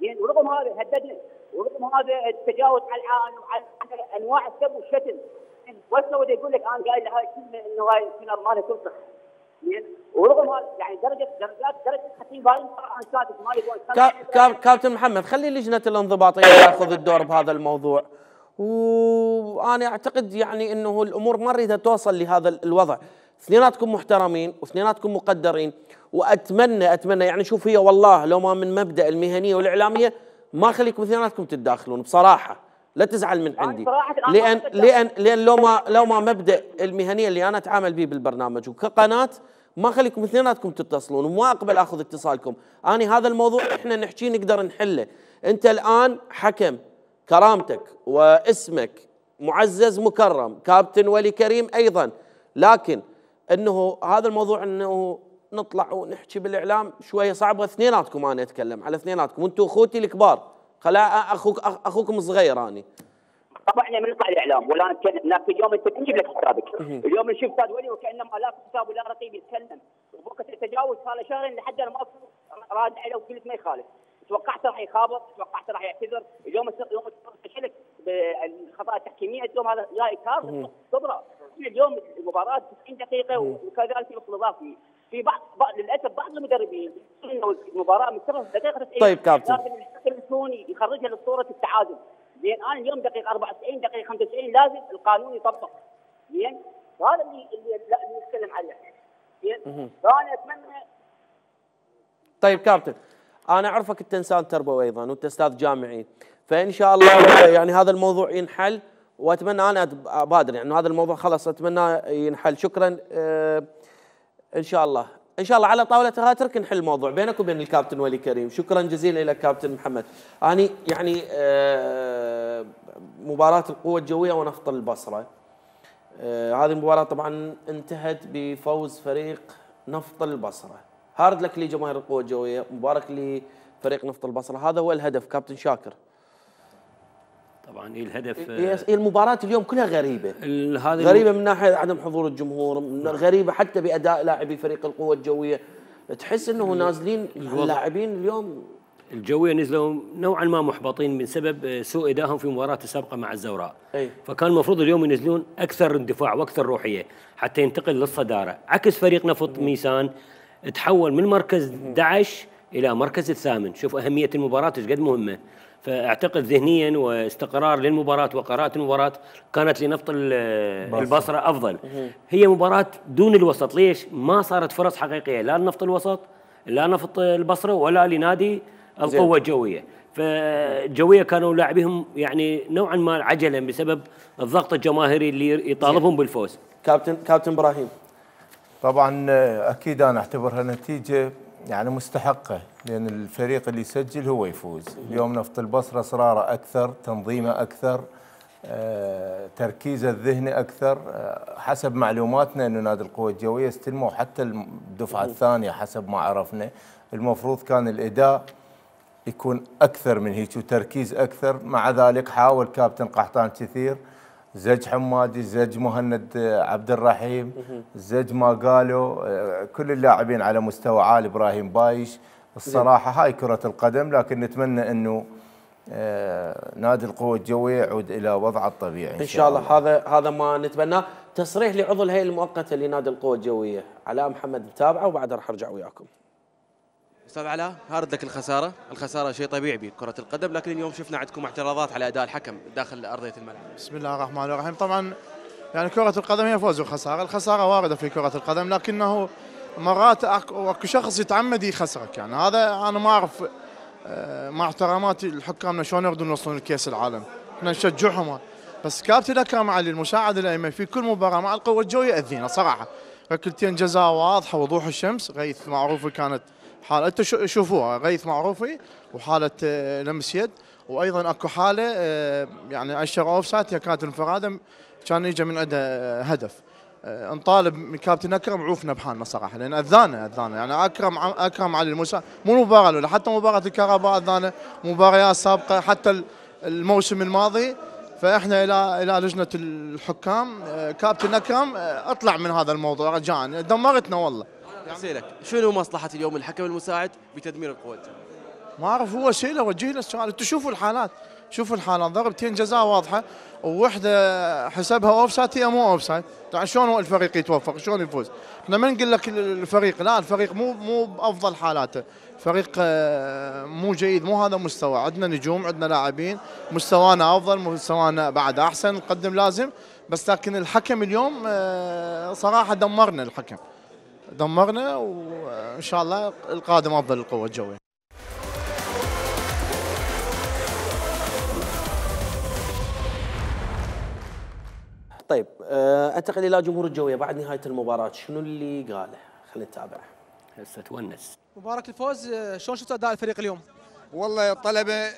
زين ورغم هذا هددنا ورغم هذا التجاوز على العالم وعلى انواع السب والشتم وهسه وده يقول لك انا قايل هاي الكلمه انه هاي الكلمه مالها تنصح زين ورغم هذا يعني درجه درجات درجه حتى باين عن سادس ما يبغون كابتن محمد خلي لجنه الانضباطيه تاخذ الدور بهذا الموضوع وانا اعتقد يعني انه الامور ما نريدها توصل لهذا الوضع اثنيناتكم محترمين واثنيناتكم مقدرين واتمنى اتمنى يعني شوف هي والله لو ما من مبدا المهنيه والاعلاميه ما خليكم اثنيناتكم تتداخلون بصراحه لا تزعل من عندي لان لان لان لو ما لو ما مبدا المهنيه اللي انا اتعامل به بالبرنامج وكقناه ما خليكم اثنيناتكم تتصلون وما اقبل اخذ اتصالكم انا هذا الموضوع احنا نحكيه نقدر نحله انت الان حكم كرامتك واسمك معزز مكرم كابتن ولي كريم ايضا لكن انه هذا الموضوع انه نطلع ونحكي بالاعلام شويه صعبه اثنيناتكم انا اتكلم على اثنيناتكم وانتم اخوتي الكبار خلا اخوك اخوكم صغير اني طبعا احنا من نطلع الاعلام ولا نتكلم هناك اليوم انت تجيب لك حسابك اليوم نشوف استاذ ولي وكانما لا حساب ولا رقيب يتكلم وبوقت التجاوز صار له شهرين لحد انا ما راد عليه وقلت ما يخالف توقعت راح يخابط توقعت راح يعتذر اليوم اليوم تشلك بالخطا التحكيميه اليوم هذا جاي كارثه صدره اليوم المباراه تسعين دقيقه وكذلك الوقت الاضافي في بعض, بعض للاسف بعض المدربين انه المباراه من ثلاث دقائق تسعين طيب كابتن لكن الحكم الثاني يخرجها لصوره التعادل زين انا اليوم دقيقه أربعة وتسعين دقيقه خمسة وتسعين لازم القانون يطبق زين هذا اللي اللي نتكلم عليه زين فانا اتمنى طيب كابتن انا اعرفك انت انسان تربوي ايضا وانت استاذ جامعي فان شاء الله يعني هذا الموضوع ينحل واتمنى انا ابادر يعني هذا الموضوع خلاص اتمنى ينحل شكرا اه ان شاء الله ان شاء الله على طاوله هاترك نحل الموضوع بينك وبين الكابتن ولي كريم شكرا جزيلا لك كابتن محمد اني يعني اه مباراه القوه الجويه ونفط البصره اه هذه المباراه طبعا انتهت بفوز فريق نفط البصره هارد لك لجماهير القوه الجويه مبارك لفريق نفط البصره هذا هو الهدف كابتن شاكر طبعا الهدف هي المباراه اليوم كلها غريبه غريبه من ناحيه عدم حضور الجمهور غريبه حتى باداء لاعبي فريق القوه الجويه تحس انه نازلين اللاعبين اليوم الجويه نزلوا نوعا ما محبطين من سبب سوء ادائهم في مباراه السابقه مع الزوراء أي. فكان المفروض اليوم ينزلون اكثر اندفاع واكثر روحيه حتى ينتقل للصداره عكس فريق نفط ميسان تحول من مركز أحد عشر الى مركز الثامن شوف اهميه المباراه ايش قد مهمه فاعتقد ذهنيا واستقرار للمباراه وقراءه المباراه كانت لنفط البصره افضل هي مباراه دون الوسط ليش ما صارت فرص حقيقيه لا لنفط الوسط لا نفط البصره ولا لنادي القوه الجويه فالجويه كانوا لاعبيهم يعني نوعا ما عجلا بسبب الضغط الجماهيري اللي يطالبهم بالفوز كابتن كابتن ابراهيم طبعا اكيد انا اعتبرها نتيجه يعني مستحقه لان الفريق اللي يسجل هو يفوز اليوم نفط البصره اصراره اكثر تنظيمه اكثر آه، تركيزه الذهني اكثر آه، حسب معلوماتنا انه نادي القوه الجويه استلموا حتى الدفعه الثانيه حسب ما عرفنا المفروض كان الاداء يكون اكثر من هيك وتركيز اكثر مع ذلك حاول كابتن قحطان كثير زج حمادي زج مهند عبد الرحيم زج ما قالوا كل اللاعبين على مستوى عالي ابراهيم بايش الصراحه هاي كره القدم لكن نتمنى انه نادي القوه الجويه يعود الى وضعه الطبيعي ان شاء الله, الله. هذا هذا ما نتمناه تصريح لعضو الهيئه المؤقته لنادي القوه الجويه علاء محمد متابعه وبعدها راح ارجع وياكم. استاذ علاء هارد لك الخساره، الخساره شيء طبيعي بكره القدم لكن اليوم شفنا عندكم اعتراضات على اداء الحكم داخل ارضيه الملعب. بسم الله الرحمن الرحيم، طبعا يعني كره القدم هي فوز وخساره، الخساره وارده في كره القدم لكنه مرات اكو شخص يتعمد يخسرك، يعني هذا انا ما اعرف مع احتراماتي لحكامنا شلون يقدرون يوصلون لكاس العالم، احنا نشجعهم بس كابتن اكرم علي المساعد الايمن في كل مباراه مع القوه الجويه ياذينا صراحه، ركلتين جزاء واضحه وضوح الشمس. غيث معروفي كانت حاله، انتم شوفوها، غيث معروفي وحاله لمس يد، وايضا اكو حاله يعني اشر اوف سايد، هي كانت انفراده كان يجي من عنده هدف. نطالب من كابتن اكرم عوفنا بحالنا صراحه، لان اذانا اذانا يعني اكرم اكرم علي المسا مو مباراه الاولى، حتى مباراه الكهرباء اذانا، مباريات سابقه حتى الموسم الماضي. فاحنا الى الى لجنه الحكام كابتن اكرم اطلع من هذا الموضوع رجاء، دمرتنا والله. اسالك شنو مصلحه اليوم الحكم المساعد بتدمير القوه؟ ما اعرف، هو اسئله وجه له السؤال. انتم شوفوا الحالات، شوفوا الحالات، ضربتين جزاء واضحه ووحده حسبها اوف سايد، هي مو اوف سايد. يعني شلون الفريق يتوفق؟ شلون يفوز؟ احنا ما نقول لك الفريق، لا الفريق مو مو بافضل حالاته، فريق مو جيد، مو هذا مستوى. عندنا نجوم، عندنا لاعبين، مستوانا افضل، مستوانا بعد احسن، نقدم لازم. بس لكن الحكم اليوم صراحه دمرنا، الحكم دمرنا، وان شاء الله القادم افضل القوه الجويه. طيب انتقل الى جمهور الجويه بعد نهايه المباراه، شنو اللي قاله؟ خلينا نتابع. هسه تونس. مبارك الفوز، شلون شفت اداء الفريق اليوم؟ والله الطلبه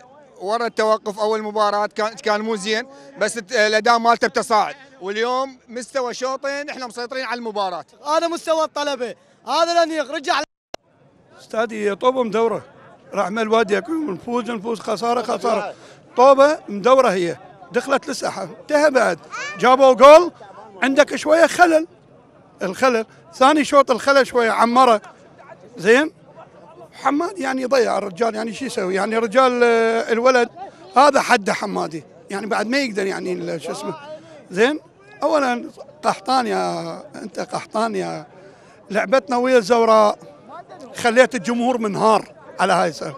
ورا التوقف اول مباراه كان كان مو زين، بس الاداء مالته بتصاعد، واليوم مستوى شوطين احنا مسيطرين على المباراه. هذا مستوى الطلبه، هذا الانيق رجع. استادي طوبه مدوره، رحمه الوادي يكون نفوز نفوز خساره خساره. طوبه مدوره، هي دخلت للساحه، انتهى بعد جابوا جول، عندك شويه خلل، الخلل ثاني شوط الخلل شويه عمره زين. حماد يعني ضيع الرجال، يعني شو يسوي؟ يعني رجال الولد هذا حده حمادي، يعني بعد ما يقدر يعني شو اسمه زين. اولا قحطان، يا انت قحطان يا لعبتنا ويا الزوراء، خليت الجمهور منهار على هاي السنه،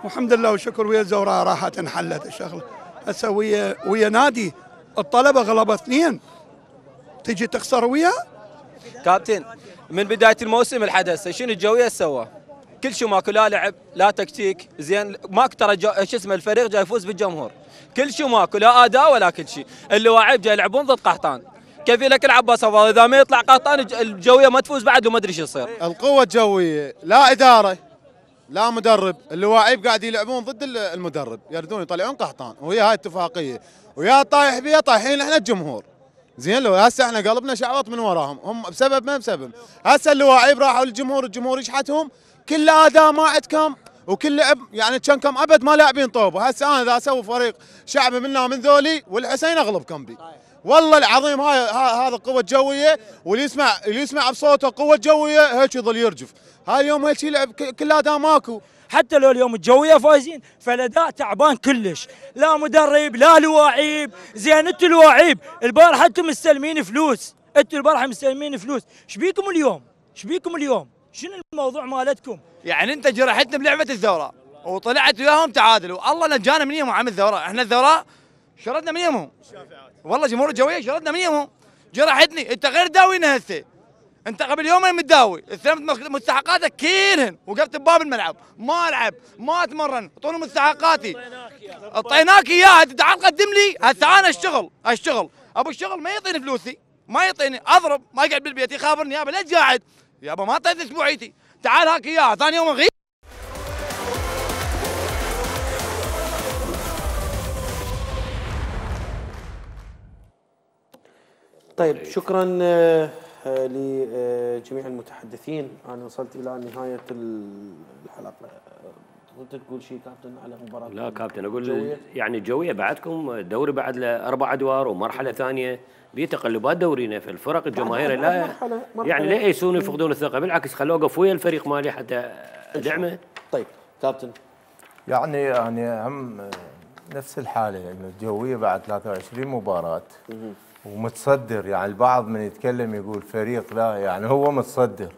والحمد لله والشكر ويا الزوراء راحت انحلت الشغله. هسه ويا ويا نادي الطلبه غلبه اثنين، تجي تخسر وياه؟ كابتن من بدايه الموسم لحد هسه شنو الجويه سوى؟ كل شيء ماكو، لا لعب لا تكتيك زين، ماكو ترى شو اسمه الفريق جاي يفوز بالجمهور، كل شيء ماكو، لا اداء ولا كل شيء. اللاعب جاي يلعبون ضد قحطان، كيف لك العباس افضل اذا ما يطلع قحطان الجويه ما تفوز بعد وما ادري شو يصير. القوه الجويه لا اداره لا مدرب، اللاعب قاعد يلعبون ضد المدرب، يردون يطلعون قحطان، وهي هاي اتفاقيه، ويا طايح بيها طايحين احنا الجمهور. زين لو هسه احنا قلبنا شعوط من وراهم، هم بسبب ما بسبب. هسه اللاعب راحوا للجمهور، الجمهور يشحتهم، كل اداء ما عندكم وكل لعب يعني كان كم ابد ما لاعبين طوبه. هسه انا اذا اسوي فريق شعبي منا من ذولي والحسين اغلبكم بي. والله العظيم هاي هذا قوه جويه، واللي يسمع اللي يسمع بصوته قوه جويه هيك يظل يرجف. هاي اليوم هيك يلعب كل اداء ماكو. حتى لو اليوم الجويه فايزين فالاداء تعبان كلش، لا مدرب لا لواعيب. زين انتوا لواعيب البارحه انتم مستلمين فلوس، انتوا البارحه مستلمين فلوس، ايش بيكم اليوم؟ ايش بيكم اليوم؟ شنو الموضوع مالتكم؟ يعني انت جرحتنا بلعبه الثوره وطلعت وياهم تعادل، والله نجانا من يمهم عم الثوره، احنا الثوره شردنا من يمهم. والله جمهور الجويه شردنا من يمهم، جرحتني. انت غير داوينا هسه، انت قبل يومين متداوي، استلمت مستحقاتك كلهن، وقفت بباب الملعب ما العب ما اتمرن، اعطوني مستحقاتي. اعطيناك اياها، انت تعال قدم لي، هسه انا اشتغل اشتغل، ابو الشغل ما يعطيني فلوسي، ما يعطيني، اضرب ما يقعد بالبيت يخابرني يابا ليش قاعد؟ يابا ما اعطيتني اسبوعيتي، تعال هاك اياها، ثاني يوم اغيب. طيب شكرا لجميع المتحدثين، انا وصلت الى نهايه الحلقه. كنت تقول شيء كابتن على مباراه؟ لا كابتن اقول الجوية. يعني الجويه بعدكم دوري بعد له اربع ادوار ومرحله ثانيه، بي تقلبات دورينا في الفرق الجماهيريه، لا مرحلة مرحلة يعني لا يسون يفقدون الثقه، بالعكس خلوه اوقف ويا الفريق مالي حتى ادعمه. طيب كابتن يعني يعني هم نفس الحاله، يعني الجويه بعد ثلاثة وعشرين مباراه ومتصدر، يعني البعض من يتكلم يقول فريق، لا يعني هو متصدر،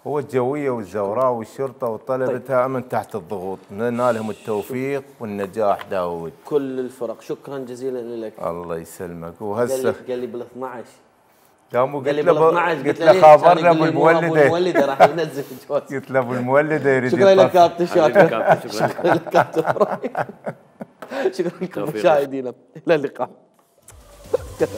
هو الجويه والزوراء والشرطه والطلبه دائما طيب. تحت الضغوط، نتمنى لهم التوفيق والنجاح داود. كل الفرق شكرا جزيلا لك. الله يسلمك. وهسه قال لي بال اثنعش قام قلت له قلت له خابرنا ابو المولده المولده راح ينزل الجواز. قلت له ابو المولده يريد. شكرا لك كابتن، شكرا شكرا لك كابتن. شكرا لكم مشاهدينا، الى اللقاء. كتب